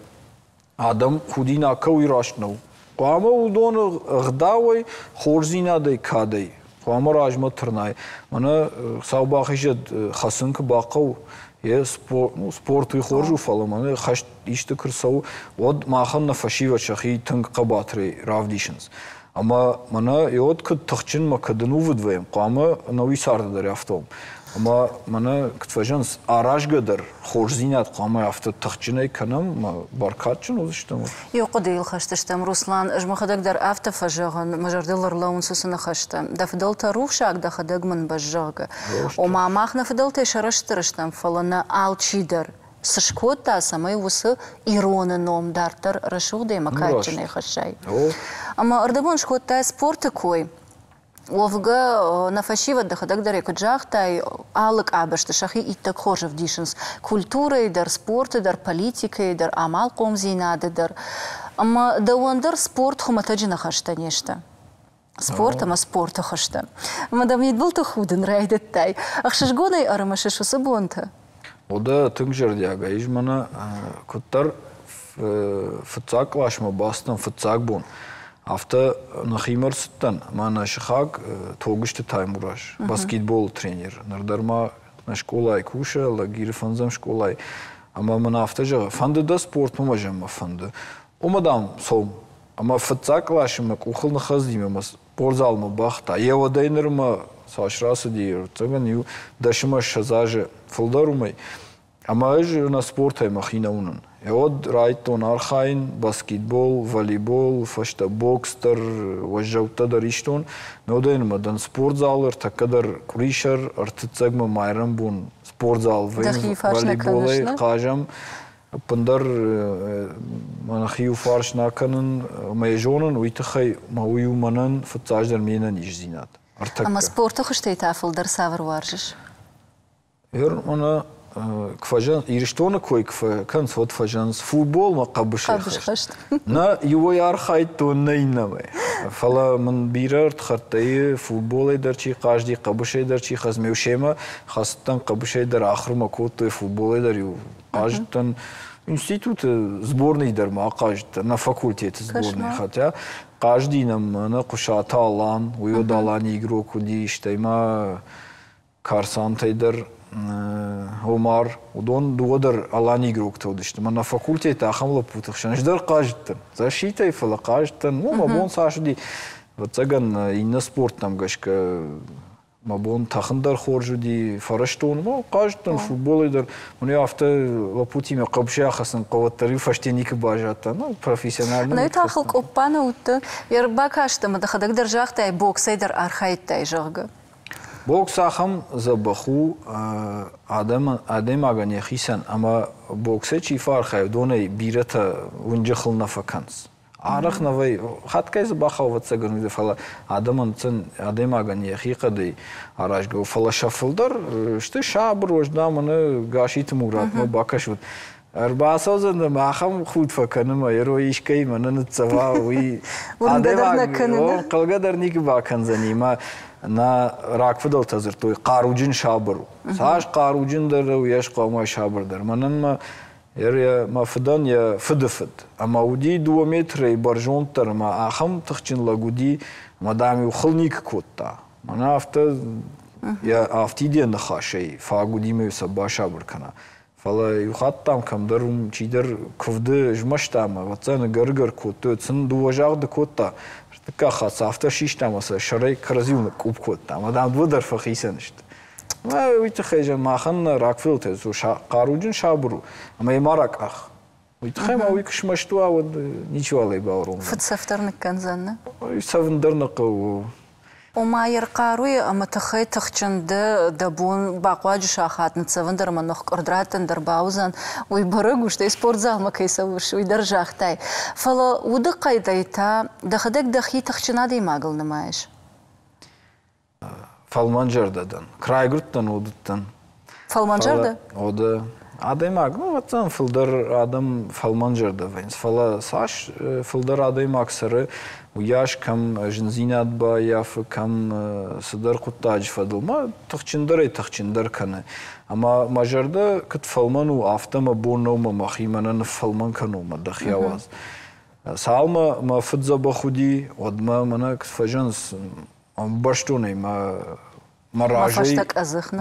адӕм худинаг кӕуый раст нӕу. Хъуамӕ уыдоны ӕгъдауӕй, хорздзинадӕй, кадӕй хъуамӕ размӕ тырнай. Мӕнӕ Хуыцау бахизӕд, хӕцын куы бахъӕуы, йе спорт, ну, спорт уый хорз у, фӕлӕ мӕнӕ хӕст исты куы рцӕуы, уӕд махӕн нӕ фӕсивӕд сӕхи тынг хъӕбатырӕй равдисынц. Ӕмӕ мӕнӕ йод куыд тыхджын мӕ куыд ӕнувыд вӕййӕм, хъуамӕ ӕнӕуи царды дӕр афтӕ уӕм. Ӕмӕ мӕнӕ куыд фӕзӕгъынц, аразгӕ дӕр хорздзинад хъуамӕ афтӕ тыхджынӕй кӕнӕм, ӕмӕ бӕркадджын уыдзыстӕм. Иу хъуыдыйыл хӕст стӕм, Руслан, ӕз мӕхӕдӕг дӕр афтӕ фӕзӕгъын, мӕ зӕрдыл ӕрлӕууынц уыцы ныхӕстӕ. Дӕ фыдӕлтӕ рухсаг, дӕхӕдӕг мын бӕзз, зӕгъгӕ. Ома, мах нӕ фыдӕлтӕй сӕрыстыр стӕм, фӕлӕ нӕ алчи дӕр цы скодта, цӕмӕй уыцы ироны ном дарддӕр рӕсугъдӕй ӕмӕ кадджынӕй хӕссай. Ӕмӕ ӕрдӕбон скодтай спорты кой. Уӕвгӕ, нӕ фӕсивӕд дӕхӕдӕг дӕр ӕй куыд загътай, алы къабӕзты сӕхи иттӕг хорз ӕвдисынц культурӕйы дӕр, спорты дӕр, политикӕйы дӕр, амалхъомдзинады дӕр. Ӕмӕ дӕуӕн дӕр спорт хуымӕтӕджы ныхӕстӕ не сты. Спорт ӕмӕ спорты хуызтӕ. Ӕмӕ дӕ мидбылты худын райдыдтай. Ӕхсызгонӕй ӕрымысыс уыцы бонтӕ? Уӕдӕ тынг зӕрдиагӕй ис мӕнӕ куыддӕр фыццаг къласмӕ бацыдтӕн фыццаг бон, афтӕ нӕхимӕ ӕрцыдтӕн ӕмӕ нӕ сыхаг Тогуызты Таймураз, баскетболы тренер, ныр дӕр ма нӕ скъолайы кусы, Лагиры фӕндзӕм скъолайы. Ӕмӕ мын афтӕ зӕгъы, фӕнды дӕ спортмӕ мӕ зӕгъын мӕ фӕнды. Уымӕ, дам, цом. Ӕмӕ фыццаг къласы мӕ къухыл ныххӕцыди ӕмӕ спортзалмӕ бахта. Йӕ уӕдӕй нырмӕ цас рацыди, ӕвӕццӕгӕн, иу дӕсӕмӕ ссӕдз азы фылдӕр уымӕй. Ӕмӕ ӕз нӕ спортӕй мӕхи нӕ уынын. Уӕд райдыдтон архайын баскетбол, волейбол, фӕстӕ бокс дӕр, уӕззӕуттӕ дӕр истон. Нодӕй нырмӕ дӕн спортзалы, ӕртӕккӕ дӕр къуырисӕр, ӕртыццӕгмӕ майрӕмбон спортзал Дӕхи фарс нӕ кӕныс, волейболӕй нӕ? хъазӕм. Ӕппындӕр мӕ иу фарс нӕ кӕнын, ӕмӕ йӕ зонын, уый тыххӕй мӕ уый у мӕнӕн фыццаджыдӕр ме нӕниздзинад. Ӕртӕккӕ. Ӕмӕ спорты хуызтӕй та фылдӕр цавӕр уарзыс? Ер мӕнӕ куы фӕзӕгъынц, Ирыстоны кой куы фӕкӕнынц, уӕд фӕзӕгъынц футболмӕ хъӕбысӕй хӕст. Нӕ иуӕй архайдтон, нӕ иннӕмӕй. Фӕлӕ мын бирӕ ӕрдхӕрдтӕй футболӕй дӕр чи хъазыди, хъӕбысӕй дӕр чи хӕцыд, ме семӕ хӕцыдтӕн, хъӕбысӕй дӕр ахуырмӕ кодтой, футболӕй дӕр-иу хъазыдтӕн. Институты сборный дӕр ма хъазыдтӕн, нӕ факультеты сборный, хотя хъазыди нӕм мӕнӕ Хъуысаты Алан, уый уӕд Алани игрок уыди, стӕй ма Карсантӕй дӕр Омар, уыдон дыууӕ дӕр Алани игроктӕ уыдысты. Мӕнӕ факультеты ахӕм лӕппуты хсӕн ӕз дӕр хъазыдтӕн. Защитӕй, фӕлӕ хъазыдтӕн. Ну, мӕ бон цас уыди. Ӕвӕццӕгӕн, иннӕ спорттӕм гӕсгӕ мӕ бон тӕхын дӕр хорз уыди, фӕрӕзтон, ну, хъазыдтӕн футболӕй дӕр. Мӕн афтӕ лӕппутимӕ хъӕбысӕй ахӕцын хъӕуы, уӕддӕр-иу фӕсте никуы баззадтӕн. Ну, профессионально. Ну, та хыл къоппа нӕ уыдтӕ. Йе рбакаст ӕмӕ дӕхӕдӕг дӕр загътай, боксӕй дӕр архайдтай, зӕгъгӕ. Бокс ахӕм дзӕбӕх у адӕмӕн, адӕймагӕн йӕхицӕн, ӕмӕ боксӕй чи фӕархайы, уыдонӕй бирӕтӕ уынджы хыл нӕ фӕкӕнынц. Арӕх нӕ вӕййы. Хатгай дзы бахауы, ӕвӕццӕгӕн, уый, фӕлӕ адӕмӕн адӕймагӕн йӕхи хъӕдӕй аразгӕ у. Фӕлӕ сӕ фылдӕр сты сабыр, уӕздан, мӕнӕ Гаситы Муратмӕ бакӕсут. Ӕрбацӕудзӕн ӕмӕ ахӕм худ фӕкӕны мӕ йӕ искӕимӕ нӕ ныццӕва, уый адӕймаг хъӕлгӕ дӕр никуы бакӕндзӕни. Мӕ нӕ рагфыдӕлтӕ дзырдтой, хъаруджын сабыр у. Цас хъаруджындӕр у, уыйас хъуамӕ сабырдӕр. Мӕнӕн мӕ мӕ фыдӕн йӕ фыды фыд. Ӕмӕ уыди дыууӕ метрӕй бӕрзонддӕр ӕмӕ ахӕм тыхджын лӕг уыди, ӕмӕ, дам-иу хыл никуы кодта. Мӕнӕ афтӕ йӕ афтид йӕ ныхасӕй фаг уыди мӕ сӕ басабыр кӕна. Фӕлӕ иу хатт, дам, кӕмдӕр уым чидӕр куывды змӕста ӕмӕ, ӕвӕццӕгӕн, гӕр-гӕр кодтой, сын дыууӕ загъды кодта. Ӕртыккаг хатт сӕ афтӕ систа ӕмӕ сӕ сӕрӕй кӕрӕдзиуыл ныкъкъупп кодта. Ӕмӕ, дам, дыууӕ дӕр фӕхицӕн сты. Уый тыххӕй зӕгъ, махӕн нӕ рагфыдӕлтӕ хъаруджын сабыр у, ӕмӕ йӕ ма ракъах. Уый тыххӕй ма уый куы смӕсты уа, уӕд ничиуал ӕй бауромдзӕн. Фыдцӕф дӕр ныккӕндзӕн, нӕ? Цӕвын дӕр нӕ хъӕуы. Ома йе рхъаруйы ӕмӕ тыххӕй тыхджын дӕ, дӕ бон бахъуаджы сахат ныццӕвын дӕр ӕмӕ ныхкъуырд раттын дӕр бауыдзӕн, уый бӕрӕг у, стӕй спортзалмӕ кӕй цӕуыс, уый дӕр загътай. Фӕлӕ удыхъӕдӕй та дӕхӕдӕг дӕхи тыхджын адӕймагыл нымайыс? Фӕлмӕнзӕрдӕ дӕн. Райгуырдтӕн, уыдтӕн. Фӕлмӕнзӕрдӕ? Ода. Адӕймаг, ну, ӕвӕццӕгӕн, фылдӕр адӕм фӕлмӕнзӕрдӕ вӕййынц, фӕлӕ цас фылдӕр адӕймаг цӕры, уыйас кӕм зындзинад баййафы, кӕм цыдӕр хъуыддаджы фӕдыл, ма тыхджындӕрӕй тыхджындӕр кӕны. Ӕмӕ мӕ зӕрдӕ куыд фӕлмӕн у, афтӕ мӕ бон нӕу мӕ мӕхи мӕнӕ ныффӕлмӕн кӕнон, мӕ дӕхи ауадз. Цалынмӕ мӕ фыд дзӕбӕх уыди, уӕдмӕ мӕнӕ куыд фӕзӕгъынц, ӕмбӕрстон ӕй мӕ мӕ разӕй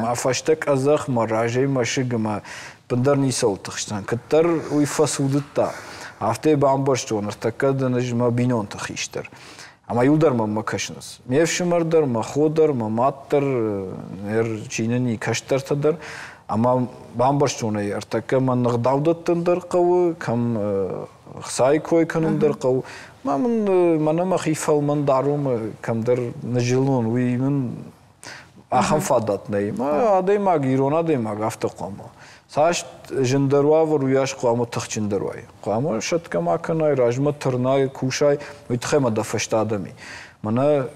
мӕ фӕстӕ къӕдзӕх, мӕ разӕй мӕсыг ӕмӕ бындӕр ницӕуыл тыхстӕн. Куыддӕр уый фӕцудыдта, афтӕ бамбӕрстон, ныртӕккӕ дын ӕз мӕ бинонты хистӕр. Ӕмӕ иу дӕр мӕнмӕ кӕсынц. Ме фсымӕр дӕр, мӕ хо дӕр, мӕ мад дӕр, чи нын и, кӕстӕртӕ дӕр. Ӕмӕ бамбӕрстон ӕй, ӕртӕккӕ мӕ ныгъдау дӕттын дӕр хъӕуы, кӕм хцайы кой кӕнын дӕр хъӕуы. Ма мын мӕнӕ мӕхи фӕлмӕн дарон, кӕмдӕр ныззылон, уый мын ахӕм фадат нӕй. Ма адӕймаг, ирон адӕймаг афтӕ хъуамӕ. Цас зындӕр уавӕр, уыйас хъуамӕ тыхджындӕр уай. Хъуамӕ сӕтгӕ ма кӕнай, размӕ тырнай, кусай, уый тыххӕй ма дӕ фӕстӕ адӕм и. Мӕнӕ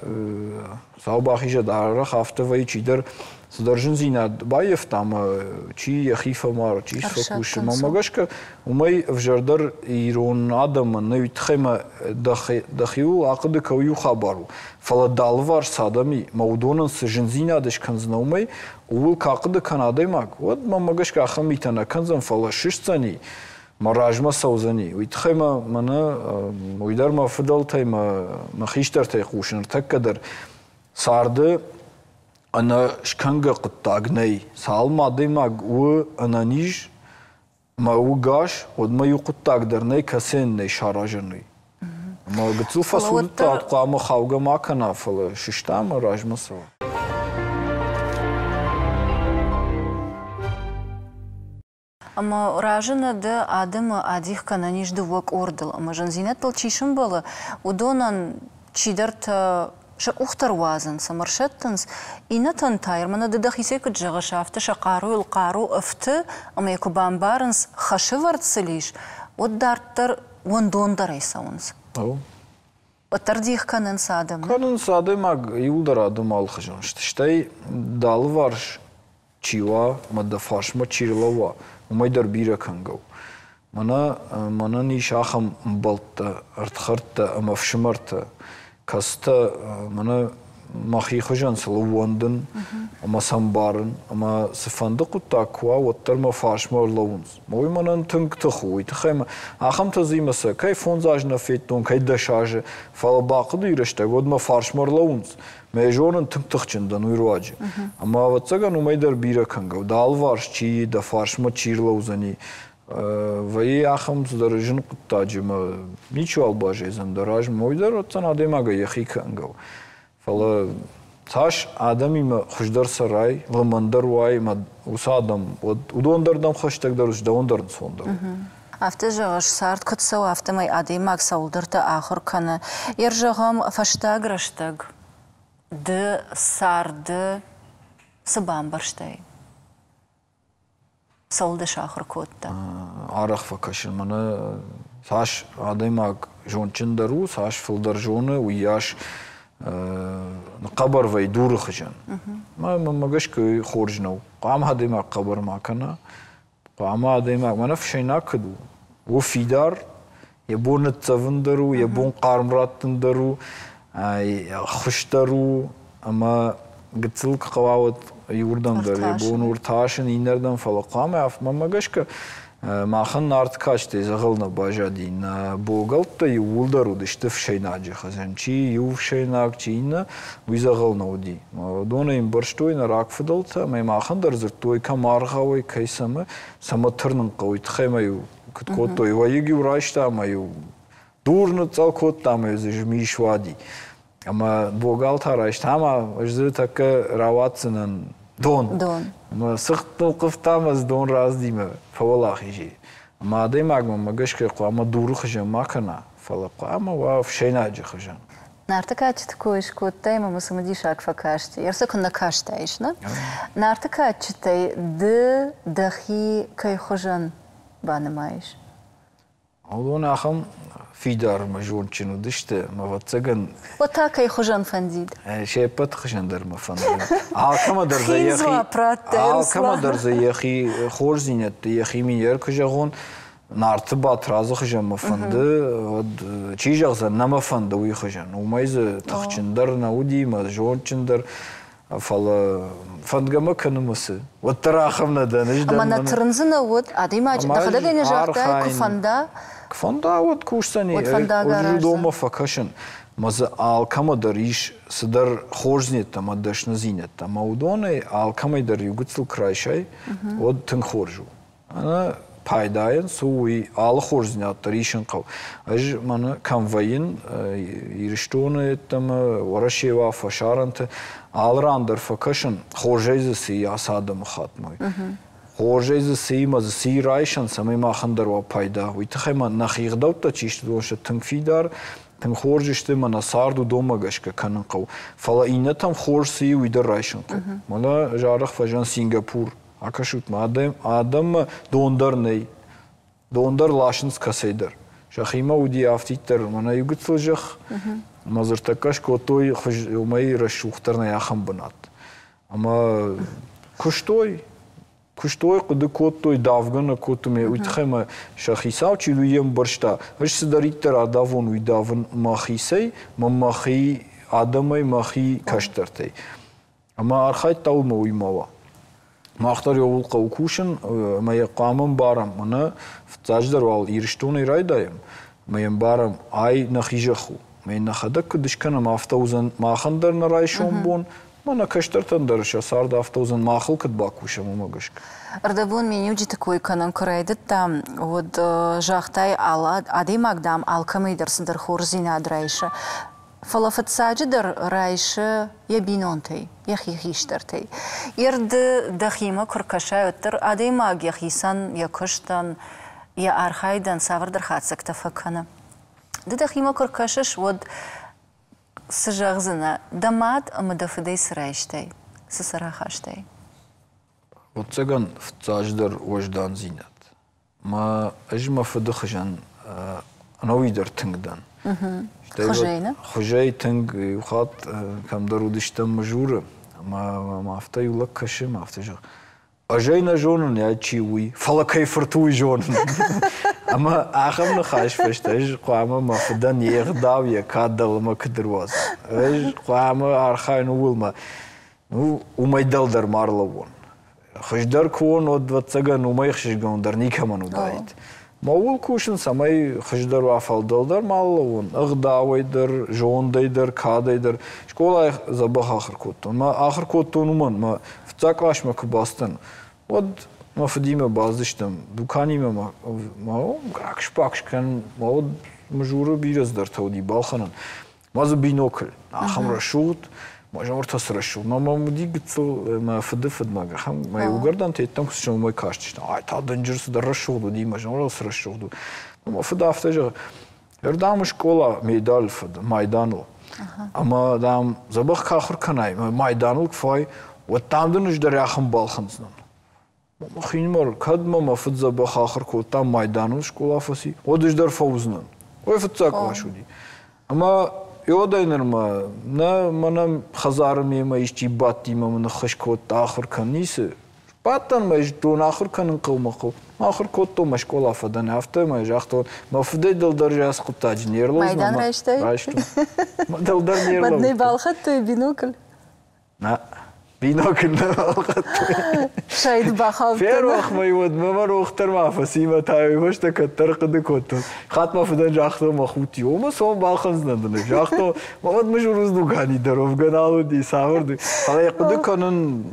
Хуыцау бахизӕд, арӕх афтӕ вӕййы, чидӕр цыдӕр зындзинад баййӕфта ӕмӕ чи йӕхи фӕмары, чи фӕкусы. Мӕнмӕ гӕсгӕ, уымӕй ӕвзӕрдӕр ирон адӕмӕн нӕ, уый тыххӕй ма дӕхиуыл ахъуыды кӕ, иу хабар у. Фӕлӕ дӕ алыварс цы адӕм и, мӕ уыдонӕн цы зындзинад скӕндзынӕ уымӕй, ууыл куы ахъуыды кӕна адӕймаг, уӕд мӕнмӕ гӕсгӕ ахӕм митӕ нӕ кӕндзӕн, фӕлӕ сыстдзӕни, мӕ размӕ цӕудзӕни. Уый тыххӕй мӕ мӕнӕ уый дӕр мӕ фыдӕлтӕй, мӕ, мӕ хистӕртӕй хъусын ныртӕккӕ дӕр царды ӕнӕ скӕнгӕ хъуыддаг нӕй. Цалынмӕ адӕймаг у ӕнӕниз мӕ у гас, уӕдмӕ иу хъуыддаг дӕр нӕй, кӕцыйӕн нӕй саразӕн уый. Ӕмӕ гыццыл фӕцудыдта, хъуамӕ хаугӕ ма кӕна, фӕлӕ сыста ӕмӕ размӕ цӕуа. Ӕмӕ разы нӕ дӕ, адӕмы адих кӕнӕн ис дыууӕ къордыл, ӕмӕ зындзинӕдтыл чи сӕмбӕлы, уыдонӕн чидӕртӕ сӕ къухтӕ руадзынц ӕмӕ ӕрсӕттынц, иннӕтӕн та, мӕнӕ ды дӕхицӕй куыд зӕгъыс, афтӕ сӕ хъаруйыл хъару ӕфты, ӕмӕ йӕ куы бамбарынц, хӕсӕвӕрд сыл ис, уӕд дарддӕр уӕндондӕрӕй цӕуынц. Уӕддӕр дих кӕнынц адӕмы. Кӕнынц адӕймаг, иуылдӕр адӕм алыхуызон сты. Стӕй дӕ алыварс чи уа ӕмӕ дӕ фарсмӕ чи рлӕууа, уымӕй дӕр бирӕ кӕнгӕ у. Мӕнӕ мӕнӕн ис ахӕм ӕмбӕлттӕ, ӕрдхӕрдтӕ ӕмӕ ӕфсымӕртӕ, кӕцытӕ мӕнӕ мӕхи хуызӕн сыл ӕууӕндын ӕмӕ сӕ ӕмбарын, ӕмӕ цыфӕнды хъуыддаг куы уа, уӕддӕр мӕ фарсмӕ ӕрлӕууынц. Уый мӕнӕн тынг тых у, уый тыххӕй мӕ ахӕмтӕ дзы имӕ сӕ кӕй фондз азы нӕ федтон, кӕй дӕс азы, фӕлӕ бахъуыдыйы рӕстӕг уӕд мӕ фарсмӕ ӕрлӕууынц. Мӕ зонын, тынг тыхджын дӕн уый руаджы. Ӕмӕ ӕвӕццӕгӕн уымӕй дӕр бирӕ кӕнгӕ у. Дӕ алыварс чи и, дӕ фарсмӕ чи рлӕудзӕни, вӕййы ахӕм цыдӕр зын хъуыддаджы ӕмӕ ничиуал баззайдзӕн дӕ размӕ. Уый дӕр ӕвӕццӕгӕн адӕймагӕй йӕхи кӕнгӕ у. Фӕлӕ цас адӕмимӕ хуыздӕр цӕрай, лымӕндӕр уай ӕмӕ уыцы адӕм, уӕд уыдон дӕр дӕм хӕстӕгдӕр уыдзысты, дӕуӕн дӕр ӕнцондӕр у. Афтӕ зӕгъыс, цард куыд цӕуы, афтӕмӕй адӕймаг цӕуылдӕрты ахуыр кӕны. Йе рзӕгъӕм, фӕстаг рӕстӕг ды царды цы бамбӕрстай? Цӕуыл дӕ сахуыр кодта? Арӕх фӕкӕсын мӕнӕ Цас адӕймаг зондджындӕр у, цас фылдӕр зоны, уыйас хъӕбӕр вӕййы дуры хуызӕн. Мӕнмӕ гӕсгӕ хорз нӕу. Хъуамӕ адӕймаг хъӕбӕр ма кӕна. Хъуамӕ адӕймаг, мӕнӕ ӕфсӕйнаг куыд у, у фидар, йӕ бон ныццӕвын дӕр у, йӕ бон хъарм раттын дӕр у, ӕххуыс дӕр у, ӕмӕ гыццыл куы хъӕуа, уӕд иуырдӕм дӕр йӕ бон у ӕртасын, иннӕрдӕм, фӕлӕ хъуамӕ, мӕнмӕ гӕсгӕ, махӕн Нарты кадджытӕй дзӕгъӕл нӕ баззади. Нӕ богӕлттӕ иууылдӕр уыдысты ӕфсӕйнаджы хуызӕн. Чи иу ӕфсӕйнаг, чи иннӕ, уый дзӕгъӕл нӕ уыди. Уыдон ӕй ӕмбӕрстой нӕ рагфыдӕлтӕ, ӕмӕ махӕн дӕр дзырдтой, кӕм аргъауӕй, кӕй цӕмӕ, цӕмӕ тырнын хъӕуы, уый тыххӕй ма-иу куыд кодтой. Уӕйыг-иу райста ӕмӕ-иу дур ныцъцъӕл кодта ӕмӕ дзы змис уади. Ӕмӕ богал та райста, ӕмӕ ӕз дзы тӕккӕ рауадздзынӕн дон. Дон. Ӕмӕ цыхт нылхъывта ӕмӕ дзы дон раздимӕ фӕуӕлахиз и. Ӕмӕ адӕймагмӕ мӕ гӕсгӕ хъуамӕ дуры хуызӕн ма кӕна, фӕлӕ хъуамӕ уа ӕфсӕйнаджы хуызӕн. Нарты кадджыты кой скодтай ӕмӕ мӕ цымыдисаг фӕкасти. Ӕрсӕ куыннӕ кастаис, нӕ? Нарты кадджытӕй ды дӕхи кӕй хуызӕн банымайыс? Уыдон ахӕм фидар ӕмӕ зондджын уыдысты, ӕмӕ ӕвӕццӕгӕн... Уӕд та кӕй хуызӕн фӕндид? Се ппӕт хуызӕн дӕр мӕ фӕнды. Алкӕмӕ дӕр дзы йӕхи, алкӕмӕ дӕр дзы йӕхи хорздзинӕдты, йӕхи минер куы зӕгъон, Нарты Батрадзы хуызӕн мӕ фӕнды, уӕд чи зӕгъдзӕн, нӕ мӕ фӕнды уый хуызӕн. Уымӕй дзы тыхджындӕр нӕ уыди, мӕ зондджындӕр. Фӕлӕ фӕндгӕ мӕ кӕны мӕ цы? Уӕддӕр ахӕм нӕ дӕн. Ӕз Ӕмӕ нӕ тырндзынӕ уӕд, адӕймаджы дӕхӕдӕг ӕй нӕ загътай, куы фӕнда. Куы фӕнда, уӕд кусдзӕни. Уӕд фӕндаг араздзӕн. Уыдонмӕ фӕкӕсын. Мӕ дзы алкӕмӕ дӕр ис цыдӕр хорздзинӕдтӕ ӕмӕ дӕсныдзинӕдтӕ. Ӕмӕ уыдонӕй алкӕмӕй дӕр иу гыццыл куы райсай, уӕд тынг хорз у. Ӕнӕ пайдайӕн цы у, уый алы хорздзинад дӕр исын хъӕуы. Ӕз мӕнӕ кӕм вӕййын, Ирыстоны йеддӕмӕ, Уӕрӕсейы уа, фӕсарӕнты, алы ран дӕр фӕкӕсын, хорзӕй дзы цы и ацы адӕмыхаттмӕ. Хорзӕй дзы цы и мӕ дзы цы и райсӕн, цӕмӕй махӕн дӕр уа пайда. Уый тыххӕй ма нӕхи ӕгъдӕуттӕ чи сты, уыдон сты тынг фидар, тынг хорз сты ӕмӕ нӕ цард уыдонмӕ гӕсгӕ кӕнын хъӕуы. Фӕлӕ иннӕтӕм хорз цы и, уый дӕр райсын хъӕуы. Мӕнӕ ӕз арӕх фӕзӕгъын Сингапур. Акӕсут-ма, адӕм, адӕммӕ дон дӕр нӕй. Дон дӕр ласынц кӕцӕйдӕр. Сӕхимӕ уыди афтиддӕр мӕнӕ иу гыццыл зӕхх, ӕмӕ дзы ӕртӕккӕ скодтой хуыз, уымӕй рӕсугъддӕр нӕй ахӕм бынат. Ӕмӕ куыстой, куыстой, хъуыды кодтой, давгӕ нӕ кодтой, уый тыххӕй мӕ сӕ хицау чи уый ӕмбӕрста, ӕз цыдӕриддӕр адавон, уый давын мӕхицӕй, мӕ мӕхи адӕмӕй, мӕхи кӕстӕртӕй. Ӕмӕ архайдта уымӕ, уый ма уа. Мах дӕр ууыл хъӕуы кусын, ӕмӕ йӕ хъуамӕ ӕмбарӕм. Мӕнӕ фыццаджыдӕр уал Ирыстонӕй райдайӕм, ӕмӕ йӕ ӕмбарӕм, ай нӕхи зӕхх у. Ӕмӕ йын нӕхӕдӕг куыд скӕнӕм, афтӕ уыдзӕн махӕн дӕр нӕ райсом бон, ӕмӕ нӕ кӕстӕртӕн дӕр сӕ цард афтӕ уыдзӕн, махыл куыд бакусӕм, уымӕ гӕсгӕ. Ӕрдӕбон миниуджыты кой кӕнын куы райдыдтам, уӕд загътай, адӕймаг, дам, алкӕмӕй дӕр цыдӕр хорздзинад райсы. Фӕлӕ фыццаджыдӕр райсы йӕ бинонтӕй, йӕхи хистӕртӕй. Йе ды дӕхимӕ куы ркӕсай, уӕддӕр адӕймаг йӕхицӕн, йӕ куыстӕн, йӕ архайдӕн цавӕрдӕр хатдзӕгтӕ фӕкӕны. Ды дӕхимӕ куы ркӕсыс, уӕд цы зӕгъдзынӕ, дӕ мад ӕмӕ дӕ фыдӕй цы райстай, цы сӕ рахастай? Ӕвӕццӕгӕн, фыццаджыдӕр уӕздандзинад. Мӕ ӕз мӕ фыды хуызӕн ӕнӕуи дӕр тынг дӕн. Хуызӕй, нӕ? Хуызӕй тынг. Иу хатт кӕмдӕр уыдыстӕм Мызуры, ӕмӕ мӕм афтӕ иу лӕг кӕсы, ӕмӕ афтӕ зӕгъы, ӕз ӕй нӕ зонын, йӕ чи уый, фӕлӕ кӕй фырт у, уый зонын. Ӕмӕ ахӕм ныхас фӕстӕ ӕз хъуамӕ мӕ фыдӕн йе гъдау, йӕ кад дӕлӕмӕ куыд ӕруадзон. Ӕз хъуамӕ архайын ууыл, мӕ ну, уымӕй дӕлдӕр ма ӕрлӕууон. Хуыздӕр куы уон, уӕд, ӕвӕццӕгӕн, уымӕй ӕхсызгондӕр никӕмӕн уыдаид. Мӕ ууыл кусын, цӕмӕй хуыздӕр уа, фӕлдӕлдӕр ма лӕууон, ӕгъдауӕй дӕр, зондӕй дӕр, кадӕй дӕр. Скъолайы дзӕбӕх ахуыр кодтон. Мӕ ахуыр кодтон уымӕн, мӕ фыццаг къласмӕ куы бацыдтӕн, уӕд мӕ фыдимӕ бацыдыстӕм дуканимӕ, мӕ, мӕ ракс-бакс кӕн, мӕ уӕд Мызуры бирӕ цыдӕртӕ уыди балхӕнӕн. Ма дзы бинокль, ахӕм рӕсугъд, ма зӕгъ, цы рӕсугъд. Мӕ мӕм уыди гыццыл мӕ фыды фыдмӕ, ахӕм мӕ иугӕрдӕнтӕ йеддӕм куы уымӕй кастысты. Ай та дынджыр цыдӕр рӕсугъд уыди, мӕ зӕгъ, цы рӕсугъд у. Мӕ фыд афтӕ зӕгъы, ӕрдӕм скъола медаль фыд, майданыл. Ӕмӕ, дам, дзӕбӕх куы ахуыр кӕнай, майданыл куы фӕуай, уӕд дам дын ӕз дӕр ахӕм балхӕндзынӕн. Мӕхинымӕр, кӕд мӕ мӕ фыд дзӕбӕх ахуыр кодта, майданыл скъола фӕци, уӕд ӕз дӕр фӕуыдзынӕн. Уый фыццаг кълас уыди. Ӕмӕ уӕдӕй нырмӕ нӕ мӕнӕ хӕдзары мемӕ исчи бадтимӕ мын ныххӕс кодта ахуыр кӕн, ницы. Бадтӕн мӕ зыдтон, ахуыр кӕнын хъӕуы хъӕуы. Ахуыр кодтон, мӕ скъола фӕдӕн, афтӕ мӕ загътон, мӕ фыдӕй дӕлдӕр ацы хъуыддаджы не рлӕудзынӕн. Майдан райстай? Райстон. Дӕлдӕр не рлӕудтӕн. Мад нӕ балхӕдтой бинокль? Нӕ. Бинокль нӕ балхӕдтой. Сайд бахаудтӕн. Ферох мӕ уӕд, мӕ мӕ рох дӕр ма фӕци, мӕ та уый фӕстӕ кӕддӕр хъуыды кодтон. Хатт мӕ фыдӕн загътон, мӕ худти, ома цом балхӕндзынӕн дын. Загътон, мӕ уӕд мызурыз дукани дӕр уӕвгӕ нал уыди, цавӕр Фӕлӕ йӕ хъуыды кӕнын,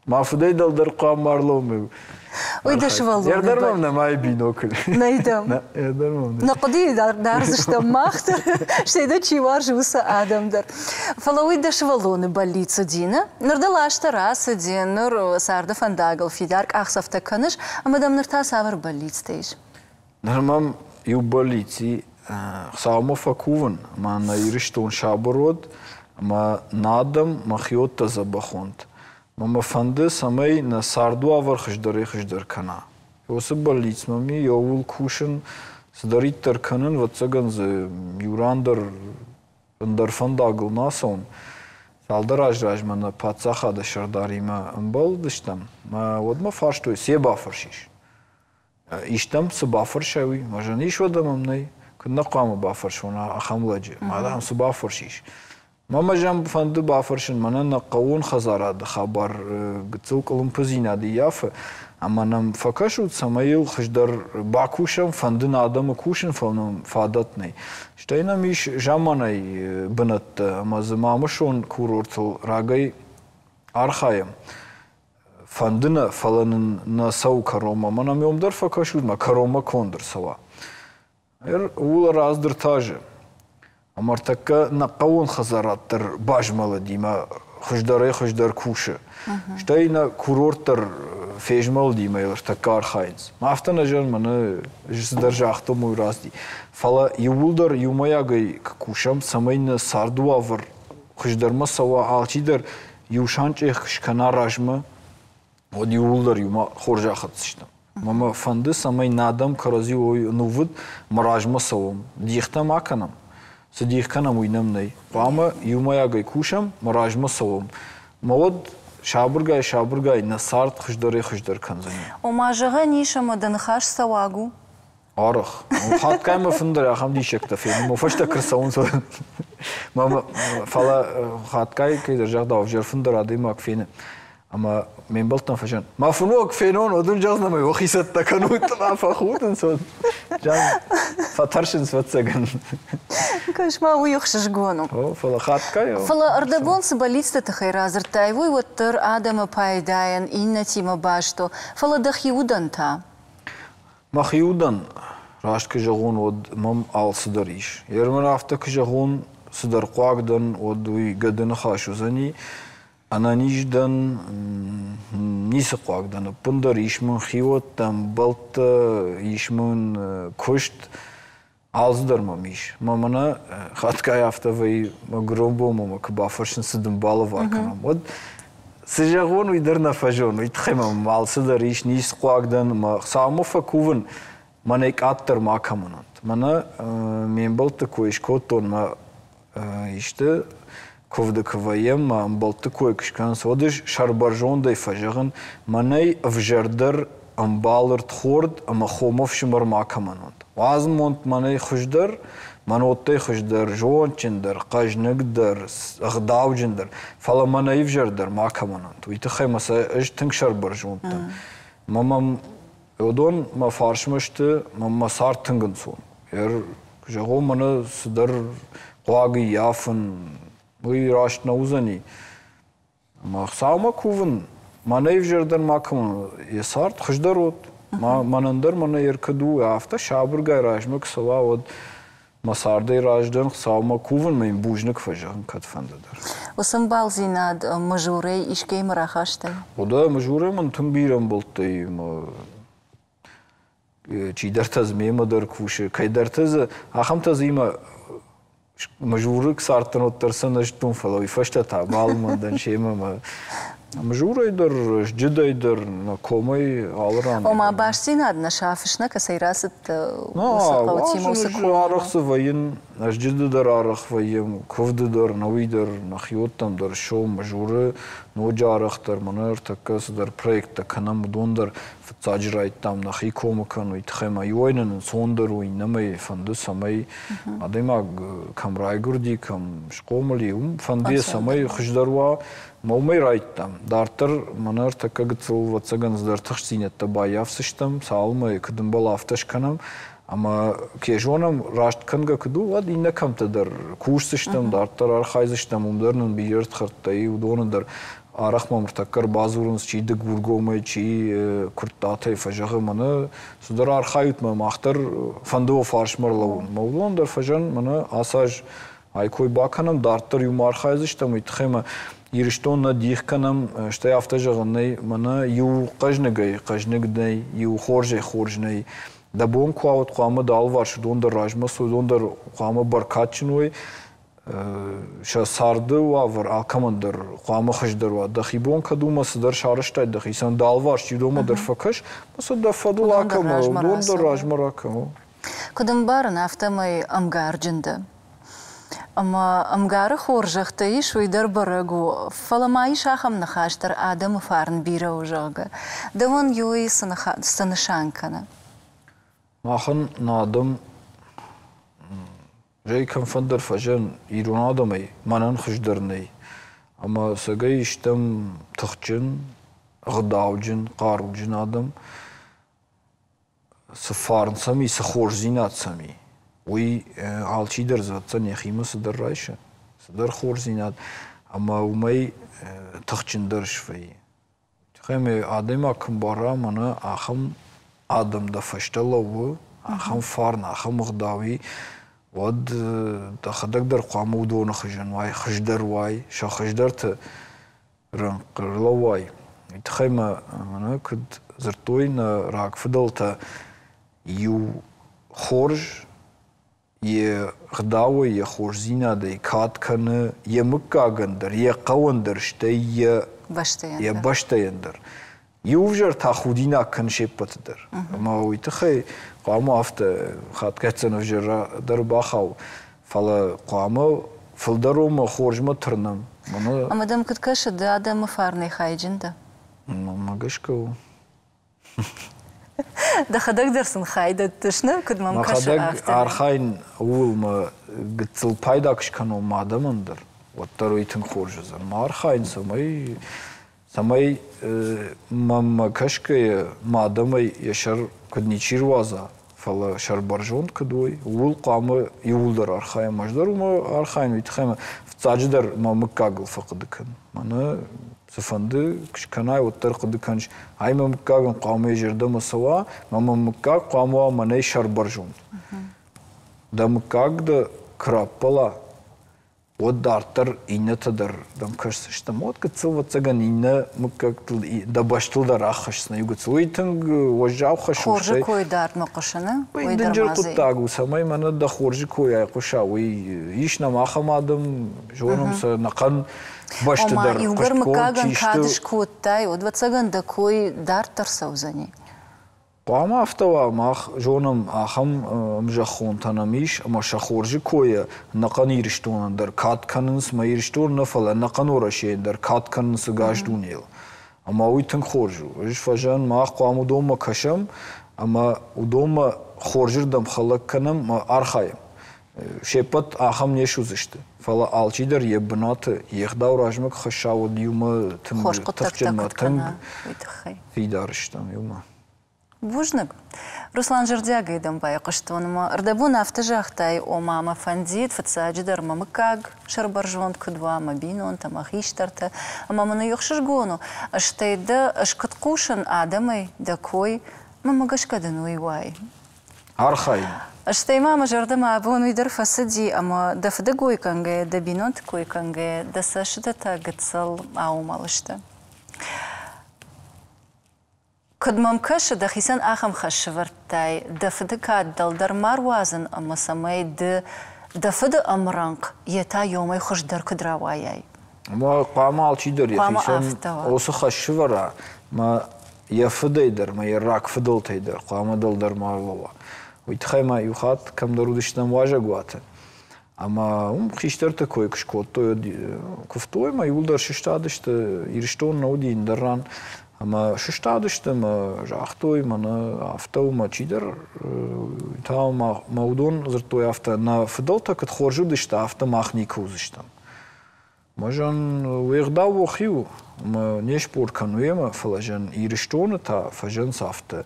мӕ фыдӕй дӕлдӕр хъуамӕ ма рлӕууон. Уый дӕ сывӕллоны Ӕрдӕр мӕм нӕмайы бинокль. Нӕй дӕм. Ӕрдӕр мӕм нӕ. Нӕ хъуыдыйы дардзыстӕм мах дӕр, стӕй дӕ чи уарзы, уыцы адӕм дӕр. Фӕлӕ уый дӕ сывӕллоны бӕллиц уыди, нӕ? Ныр дыл азтӕ рацыди, ныр царды фӕндагыл фидар къахдзӕфтӕ кӕныс, ӕмӕ дӕм ныр та цавӕр бӕллицтӕ ис? Ныр мӕм иу бӕллиц и, Хуыцаумӕ фӕкувын, ӕмӕ нӕ Ирыстон сабыр уӕд, ӕмӕ нӕ адӕм, мӕхиуӕттӕ дзӕбӕх уӕнт. Мӕ мӕ фӕнды, цӕмӕй нӕ цардуавӕр хуыздӕрӕй-хуыздӕр кӕна. Уыцы бӕллиц мӕм и, ууыл кусын, цыдӕриддӕр кӕнын, ӕвӕццӕгӕн дзы иу ран дӕр ӕндӕр фӕндагыл нӕ ацӕуын. Цалдӕр аз размӕ нӕ паддзахады сӕрдаримӕ ӕмбӕлдыстӕм, мӕ уӕд мӕ фарстой, цы бафӕрсис? Истӕм цы бафӕрсай, уый. Мӕ зӕгъын, ис уӕдӕ мӕм нӕй. Куыд нӕ хъуамӕ бафӕрсон ахӕм лӕджы? Мӕ дам, цы бафӕрсис? Мӕ мӕ зӕм фӕнды бафӕрсын, мӕнӕн нӕ хъӕууон хӕдзарады хабар гыццыл къуылымпыдзинад ӕййафы, ӕмӕ нӕм фӕкӕсут, цӕмӕй йыл хуыздӕр бакусӕм, фӕнды нӕ адӕмы кусын, фӕлӕ нӕм фадат нӕй. Стӕй нӕм ис заманай бынӕттӕ, ӕмӕ дзы Мамысон курортыл рагӕй архайӕм. Фӕнды нӕ, фӕлӕ нын нӕ цӕуы кӕронмӕ. Мӕнӕ ме дӕр фӕкӕсут, мӕ кӕронмӕ конд ӕрцӕуа. Ууыл раздыртазы. Ӕмӕ ӕртӕккӕ нӕ хъӕууон хӕдзарад дӕр базмӕлыди мӕ хуыздӕрӕй-хуыздӕр кусы. Стӕй нӕ курорт дӕр фезмӕлыди мӕ йыл ӕртӕккӕ архайынц. Афтӕ нӕ зӕгъын, мӕнӕ цыдӕр загътон, уый рацыди. Фӕлӕ иууылдӕр иумӕйагӕй куы кусӕм, цӕмӕй нӕ царды уавӕр хуыздӕрмӕ цӕуа, алчидӕр иу санчъех скӕна размӕ, уӕд иууылдӕр иумӕ хорз ахӕцдзыстӕм. Мӕ мӕ фӕнды, цӕмӕй нӕ адӕм кӕрӕдзи уой ӕнувыд, мӕ размӕ цӕуӕм. Дихтӕ ма кӕнӕм. Цы дих кӕнӕм, уый нӕм нӕй. Хъуамӕ иумӕйагӕй кусӕм, мӕ размӕ цӕуӕм. Мӕ уӕд сабыргай-сабыргай нӕ цард хуыздӕрӕй-хуыздӕр кӕндзӕни. Ома, зӕгъӕн ис, ӕмӕ дӕ ныхас цӕуаг у? Арӕх. Хатгай мӕ фын дӕр ахӕм диссӕгтӕ фенын, мӕ фӕстӕ куы рцӕуынц, фӕлӕ хатгай кӕйдӕр загъдау, ӕвзӕр фын дӕр адӕймаг фены. Ӕмӕ ме мбӕлттӕн фӕзӕгъын, мӕ фынуаг фенон, уӕд ын зӕгъдзынӕн, ӕмӕ уӕхи цӕттӕ кӕнут, ӕмӕ фӕхудынц, уӕд фӕтӕрсынц, ӕвӕццӕгӕн. Кӕс-ма, уый ӕхсызгон у. О, фӕлӕ хатгай. Фӕлӕ ӕрдӕбон цы бӕллицты тыххӕй радзырдтай, уый уӕддӕр адӕмы пайдайӕн, иннӕтимӕ баст у, фӕлӕ дӕхи удӕн та? Мӕхи удӕн, раст куы зӕгъон, уӕд мӕм алцыдӕр ис. Ермӕн афтӕ куы зӕгъон, цыдӕр хъуаг дӕн, уӕд уый гӕды ныхас уыдзӕни. Ӕнӕниз дӕн, ницы хъуаг дӕн, ӕппындӕр ис мын хиуӕттӕ, ӕмбӕлттӕ, ис мын куыст, алцыдӕр мӕм ис. Мӕ мӕнӕ хатгай афтӕ вӕййы, мӕ гуырон бонмӕ мӕ куы бафӕрсынц, цы дын балӕвар кӕнӕм, уӕд цы зӕгъон, уый дӕр нӕ фӕзоны. Уый тыххӕй мӕм алцыдӕр ис, ницы хъуаг дӕн, мӕ Хуыцаумӕ фӕкувын, мӕнӕй къаддӕр макӕмӕн уӕнт. Мӕнӕ ме мбӕлтты кой скодтон, мӕ исты куывды куы вӕййӕм, мӕ ӕмбӕлтты кой куы скӕнынц, уӕд ӕз сӕрбӕрзондӕй фӕзӕгъын, мӕнӕй ӕвзӕрдӕр ӕмбал ӕрдхорд ӕмӕ хом ӕфсымӕр макӕмӕн уӕнт. Уадзмонт мӕнӕй хуыздӕр, мӕнуӕттӕй хуыздӕр, зондджындӕр, хъӕзныгдӕр, ӕгъдауджындӕр, фӕлӕ мӕнӕй ӕвзӕрдӕр макӕмӕн уӕнт. Уый тыххӕй мӕ сӕ ӕз тынг сӕрбӕрзонд дӕн. Мӕ мӕм уыдон мӕ фарсмӕ сты, мӕ мӕ цард тынг ӕнцон. Куы зӕгъон, мӕнӕ цыдӕр хъуаг ӕййафын, уый раст нӕ уыдзӕни. Ӕмӕ Хуыцаумӕ кувын, мӕнӕй ӕвзӕрдӕр макӕмӕн йӕ цард хуыздӕр уӕд. Мӕнӕн дӕр мӕнӕ ӕркӕд у, афтӕ сабыргай размӕ куы цӕуа, уӕд мӕ цардӕй раздӕн Хуыцаумӕ кувын, мӕ йын бузныг фӕзӕгъын кӕдфӕнды дӕр. Уыцы ӕмбалдзинад Мызурӕй искӕимӕ рахастай? Уӕдӕ Мызурӕй мын тынг бирӕ ӕмбӕлттӕ и. Чидӕртӕ дзы мемӕ дӕр кусы, кӕйдӕртӕ дзы, ахӕмтӕ дзы имӕ мызуры цардтӕн уӕддӕр сӕ нӕ зыдтон, фӕлӕ уый фӕстӕ та балымӕн дӕн семӕ мӕ Мызурӕй дӕр, Зджыдӕй дӕр, нӕ комӕй алы ран. Ома бастдзинад нӕ сафыс, нӕ кӕцӕй рацыдтӕ, уыцы хъӕутимӕ, уыцы комимӕ? Арӕх дзы вӕййын, Зджыды дӕр арӕх вӕййӕм, куывды дӕр, нӕуи дӕр, нӕхиуӕттӕм дӕр ссӕуӕм Мызуры, ноджы арӕхдӕр мӕнӕ ӕртӕккӕ цыдӕр проекттӕ кӕнӕм, уыдон дӕр фыццаджы райдтам нӕхи комы кӕнын, уый тыххӕй ма иуӕй нын ӕнцондӕр у, иннӕмӕй фӕнды, цӕмӕй адӕймаг кӕм райгуырди, кӕм схъомыл и, уым фӕнды, цӕмӕй хуыздӕр уа. Мӕ уымӕй райдтам. Дарддӕр мӕнӕ ӕртӕккӕ гыццыл, ӕвӕццӕгӕн, цыдӕр тыхстдзинӕдтӕ баййафдзыстӕм, цалынмӕ куыд ӕмбӕлы, афтӕ скӕнӕм. Ӕмӕ кӕй зонӕм, раст кӕнгӕ куыд у, уӕд иннӕ кӕмттӕ дӕр кусдзыстӕм, дарддӕр архайдзыстӕм, уым дӕр нын бирӕ ӕрдхӕрдтӕ и, уыдоны дӕр арӕх мӕм ӕртӕккӕ ӕрбадзурынц, чи Дыгургомӕй, чи Куырттатӕй фӕзӕгъы, мӕнӕ цыдӕр архайут мӕ, мах дӕр фӕнды уӕ фарсмӕ ӕрлӕууын. Мӕ уыдон дӕр фӕзӕн, мӕнӕ ацы аз ай кой бакӕнӕм, дарддӕр иумӕ архайдзыстӕм, уый тыххӕй мӕ Ирыстон нӕ дих кӕнӕм, стӕй афтӕ зӕгъын нӕй, мӕнӕ иу хъӕзныгӕй хъӕзныг нӕй, иу хорзӕй хорз нӕй. Дӕ бон куы уа, уӕд хъуамӕ дӕ алыварс уыдон дӕр размӕ цой, уыдон дӕр хъуамӕ бӕркадджын уой, сӕ царды уавӕр алкӕмӕн дӕр хъуамӕ хуыздӕр уа. Дӕхи бон кӕд у, мӕ цыдӕр сарӕзтай дӕхицӕн, дӕ алыварс чи уыдонмӕ дӕр фӕкӕс, мӕ сӕ дӕ фӕдыл акӕн, уыдон дӕр размӕ ракӕн. Куыд ӕмбарын, афтӕмӕй ӕмгарджын дӕ. Ӕмӕ ӕмгары хорзӕхтӕ ис, уый дӕр бӕрӕг у. Фӕлӕ ма ис ахӕм ныхас дӕр, адӕмы фарн бирӕ у, зӕгъгӕ. Дӕуӕн уый цы нысан кӕны? Махӕн нӕ адӕм зӕй кӕмфӕндӕр фӕзӕн ирон адӕмӕй мӕнӕн хуыздӕр нӕй. Ӕмӕ цӕгӕй стӕм тыхджын, ӕгъдауджын, хъаруджын адӕм. Цы фарн сӕм и, цы хорздзинад сӕм и, уый алчидӕр дзы йӕхимӕ цыдӕр райсы, цыдӕр хорздзинад, ӕмӕ уымӕй тыхджындӕр свӕййы. Тыххӕй адӕймаг куы мбара, мӕнӕ ахӕм адӕм дӕ фӕстӕ лӕууы, ахӕм фарн, ахӕм ӕгъдау и, уӕд дӕхӕдӕг дӕр хъуамӕ уыдоны хуызӕн уай, хуыздӕр уай, сӕ хуыздӕрты рӕнхъ ӕрлӕууай. Уый тыххӕй мӕ мӕнӕ куыд дзырдтой нӕ рагфыдӕлтӕ, иу хорз йе гъдауӕй, йӕ хорздзинадӕй кад кӕны йӕ мыггагӕн дӕр, йӕ хъӕуӕн дӕр, стӕй йӕ йӕ бӕстӕйӕн дӕр. Иу ӕвзӕр та худинаг кӕны се ппӕты дӕр. Ӕмӕ уый тыххӕй хъуамӕ афтӕ хатгӕцӕн ӕвзӕр дӕр бахау, фӕлӕ хъуамӕ фылдӕр уымӕ хорзмӕ тырнӕм. Ӕмӕ дӕм куыд кӕсы, ды адӕмы фарнӕй хайджын дӕ? Мӕнмӕ гӕсгӕ у. Дӕхӕдӕг дӕр сын хай дӕттыс, нӕ? Куыд мӕм кӕсы, афтӕ. Архайын ууыл мӕ гыццыл пайда куы скӕнон мӕ адӕмӕн дӕр, уӕддӕр уый тынг хорз уыдзӕн. Ма архайын, цӕмӕй цӕмӕй мӕнмӕ кӕсгӕйӕ мӕ адӕмӕй йӕ сӕр куыд ничи руадза, фӕлӕ сӕрбӕрзонд куыд уой, ууыл хъуамӕ иууылдӕр архайӕм. Ӕз дӕр уымӕ архайын, уый тыххӕй мӕ фыццаджыдӕр мӕ мыггагыл фӕхъуыды кӕнын. Мӕнӕ цыфӕнды скӕнай, уӕддӕр хъуыды кӕныс, ай мӕ мыггагӕн хъуамӕ йӕ зӕрдӕмӕ цӕуа, мӕ мӕ мыггаг хъуамӕ уа мӕнӕй сӕрбӕрзонд. Дӕ мыггаг дӕ куы раппӕла, уӕд дарддӕр иннӕтӕ дӕр дӕм кӕсдзысты. Уӕд гыццыл, ӕвӕццӕгӕн, иннӕ мыггӕгтыл, дӕ бӕстыл дӕр аххӕсдзынӕ иу гыццыл. Уый тынг уӕззау хӕс у. Хорзы кой дардмӕ хъуысы, нӕ? Уый дынджыр хъуыддаг у, цӕмӕй мӕнӕ дӕ хорзы кой айхъуыса, уый ис нӕм ахӕм адӕм, зонӕм сӕ нӕхъӕн бӕсты дӕр иугӕр мыггагӕн кад скодтай, уӕд, ӕвӕццӕгӕн, дӕ кой дарддӕр цӕудзӕни. Хъуамӕ афтӕ уа, мах зонӕм, ахӕм ӕмзӕххонтӕ нӕм ис, ӕмӕ сӕ хорзы койӕ ӕнӕхъӕн Ирыстонӕн дӕр кад кӕнынц, мӕ Ирыстон нӕ, фӕлӕ ӕнӕхъӕн Уӕрӕсейӕн дӕр кад кӕнынц ӕгас дунейыл. Ӕмӕ уый тынг хорз у. Ӕз фӕзӕгъын, мах хъуамӕ уыдонмӕ кӕсӕм ӕмӕ уыдонмӕ хорзырдӕм хӕлӕг кӕнӕм ӕмӕ архайӕм. Се ппӕт ахӕм не суыдзысты, фӕлӕ алчидӕр йӕ бынаты йе гъдау размӕ куы хӕсса, уӕд иумӕ тынг тыхджын тынг фидар стӕм иумӕ. Бузныг. Руслан, зӕрдиагӕй дӕм байхъуыстон ӕмӕ ӕрдӕбон афтӕ загътай, ома мӕ фӕндид, фыццаджыдӕр мӕ мыггаг сӕрбӕрзонд куыд уа, мӕ бинонтӕ, мӕ хистӕртӕ, ӕмӕ мын уый ӕхсызгон у, стӕй дӕ ӕз куыд хъусын адӕмӕй дӕ кой, мӕнмӕ гӕсгӕ дын уый уай. Архайын. Стӕй ма мӕ зӕрдӕмӕ абон уый дӕр фӕцыди, ӕмӕ дӕ фыды кой кӕнгӕйӕ, дӕ бинонты кой кӕнгӕйӕ, дӕ цӕстытӕ гыццыл аумӕл сты. Куыд мӕм кӕсы, дӕхицӕн ахӕм хӕс сӕвӕрдтай, дӕ фыды кад дӕлдӕр ма руадзын ӕмӕ цӕмӕй ды дӕ фыды ӕмрӕнхъ, йе та йомӕй хуыздӕр куыд рауайай. Ӕмӕ хъуамӕ алчидӕр йӕхицӕн уыцы хӕс сывӕра, мӕ йӕ фыдӕй дӕр, мӕ йӕ рагфыдӕлтӕй дӕр хъуамӕ дӕлдӕр ма ӕрлӕууа. Уый тыххӕй ма иу хатт кӕмдӕр уыдыстӕм уазӕгуаты. Ӕмӕ уым хистӕрты кой куы скодтой, куывтой ӕмӕ иууылдӕр сыстадысты, Ирыстон нӕ уыди ӕндӕр ран. Ӕмӕ сыстадысты ӕмӕ загътой, мӕнӕ афтӕ у, мӕ чидӕр та мӕ уыдон дзырдтой афтӕ, нӕ фыдӕлтӕ куыд хорз уыдысты, афтӕ мах никуы уыдзыстӕм. Мӕ зӕн уе гъдау уӕхи у, ӕмӕ не спор кӕн уемӕ, фӕлӕ зӕн Ирыстоны та фӕзӕнц афтӕ.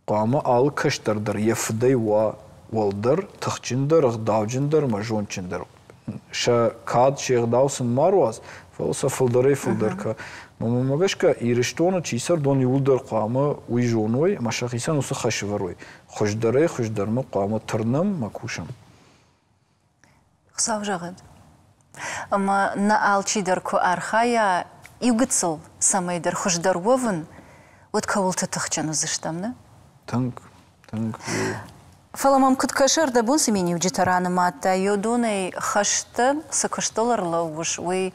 Хъуамӕ алы кӕстӕр дӕр йӕ фыдӕй уа уӕлдӕр, тыхджындӕр, ӕгъдауджындӕр ӕмӕ зондджындӕр. Сӕ кад, се гъдау сын ма руадз, фӕлӕ сӕ фылдӕрӕй фылдӕр кӕ. Мӕнмӕ гӕсгӕ, Ирыстоны чи цӕрдон, иууылдӕр хъуамӕ уый зоной ӕмӕ сӕхицӕн уыцы хӕс ӕвӕрой. Хуыздӕрӕй хуыздӕрмӕ хъуамӕ тырнӕм ӕмӕ кусӕм. Хуыцау зӕгъӕд. Ӕмӕ нӕ алчидӕр куы архайа иу гыццыл цӕмӕйдӕр хуыздӕр уӕвын, уӕд кӕуылты тыхджын уыдзыстӕм, нӕ? Тынг, тынг. Фӕлӕ мӕм куыд кӕсы, ӕрдӕбон цы миниуджытӕ ранымадтай, уыдонӕй хӕсты цы куыстыл ӕрлӕууыс, уый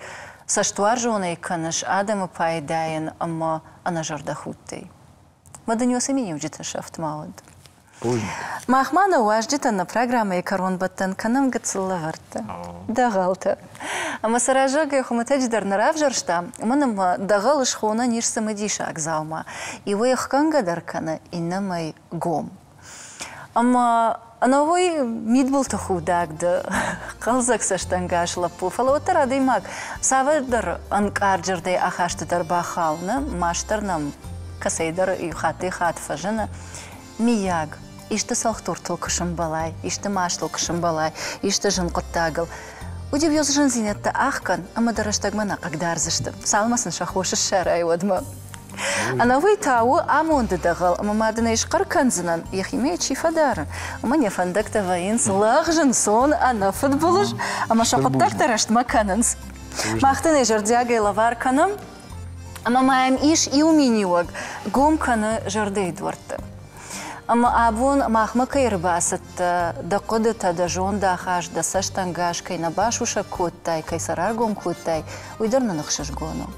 цӕстуарзонӕй кӕныс адӕмы пайдайӕн ӕмӕ ӕнӕзӕрдӕхудтӕй. Мӕ дын уыцы миниуджытӕ сӕфт ма уӕд. Мах ма нӕ уазджытӕн нӕ программӕйы кӕронбӕттӕн кӕнӕм гыццыл лӕвӕрттӕ, дӕгъӕлтӕ. Ӕмӕ сӕ раззагӕй хуымӕтӕджы дӕр нӕ равзӕрстам, уымӕн ӕмӕ дӕгъӕл схонӕн ис цымыдисаг дзаума. Иуӕй ӕхгӕнгӕ дӕр кӕны, иннӕмӕй гом. Ӕмӕ ӕнӕуый мидбылты худаг дӕ, хъӕлдзӕг цӕстӕнгас лӕппу, фӕлӕ уӕддӕр адӕймаг цавӕрдӕр ӕнкъард зӕрдӕйы ахасты дӕр бахауы, нӕ? Маст дӕр нӕм кӕцӕйдӕр иу хаттӕй-хатт фӕзыны. Миййаг, исты цӕлхдуртыл куы сӕмбӕлай, исты мастыл куы сӕмбӕлай, исты зын хъуыддагыл, уыд-иу йӕ зындзинӕдтӕ ӕхгӕн ӕмӕ дӕ рӕстӕгмӕ нӕ хъыгдардзысты, цалынмӕ сын сӕ хос ссарай, уӕдмӕ. Ӕнӕуый та у амонды дӕгъӕл, ӕмӕ ма дын ӕй схъӕр кӕндзынӕн, йӕхимӕ йӕ чи фӕдары, уымӕн йӕ фӕндӕгтӕ вӕййынц лӕгъз, ӕнцон, ӕнӕфыдбылыз, ӕмӕ сӕ хъуыддӕгтӕ рӕстмӕ кӕнынц. Мах дын ӕй зӕрдиагӕй лӕвар кӕнӕм, ӕмӕ ма йӕм ис иу миниуӕг, гом кӕны зӕрдӕйы дуӕртты. Ӕмӕ абон махмӕ кӕй ӕрбацыдтӕ, дӕ хъуыдытӕ, дӕ зондахаст, дӕ цӕстӕнгас кӕй нӕ басусӕг кодтай, кӕй сӕ раргом кодтай, уый дӕр нын ӕхсызгон у.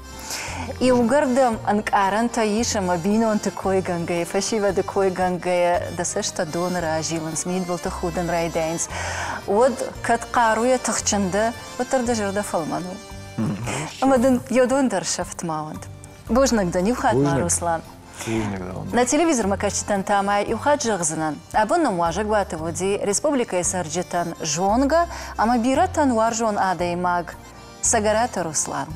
Иугӕр дӕм ӕнкъарӕнтӕ ис ӕмӕ бинонты койгӕнгӕйӕ, фӕсивӕды койгӕнгӕйӕ дӕ цӕстӕ доны разилынц, мидбылты худын райдайынц, уӕд кӕд хъаруйӕ тыхджын дӕ, уӕддӕр дӕ зӕрдӕ фӕлмӕн у. Ӕмӕ дын йӕ дон дӕр сӕфт ма уӕд. Бузныг дын иу хатт ма, Руслан. Нӕ телевизормӕ кӕсджытӕн та ма иу хатт зӕгъдзынӕн. Абон нӕм уазӕгуаты уыди республикӕйы цӕрджытӕн зонгӕ ӕмӕ бирӕтӕн уарзон адӕймаг Цӕгӕраты Руслан.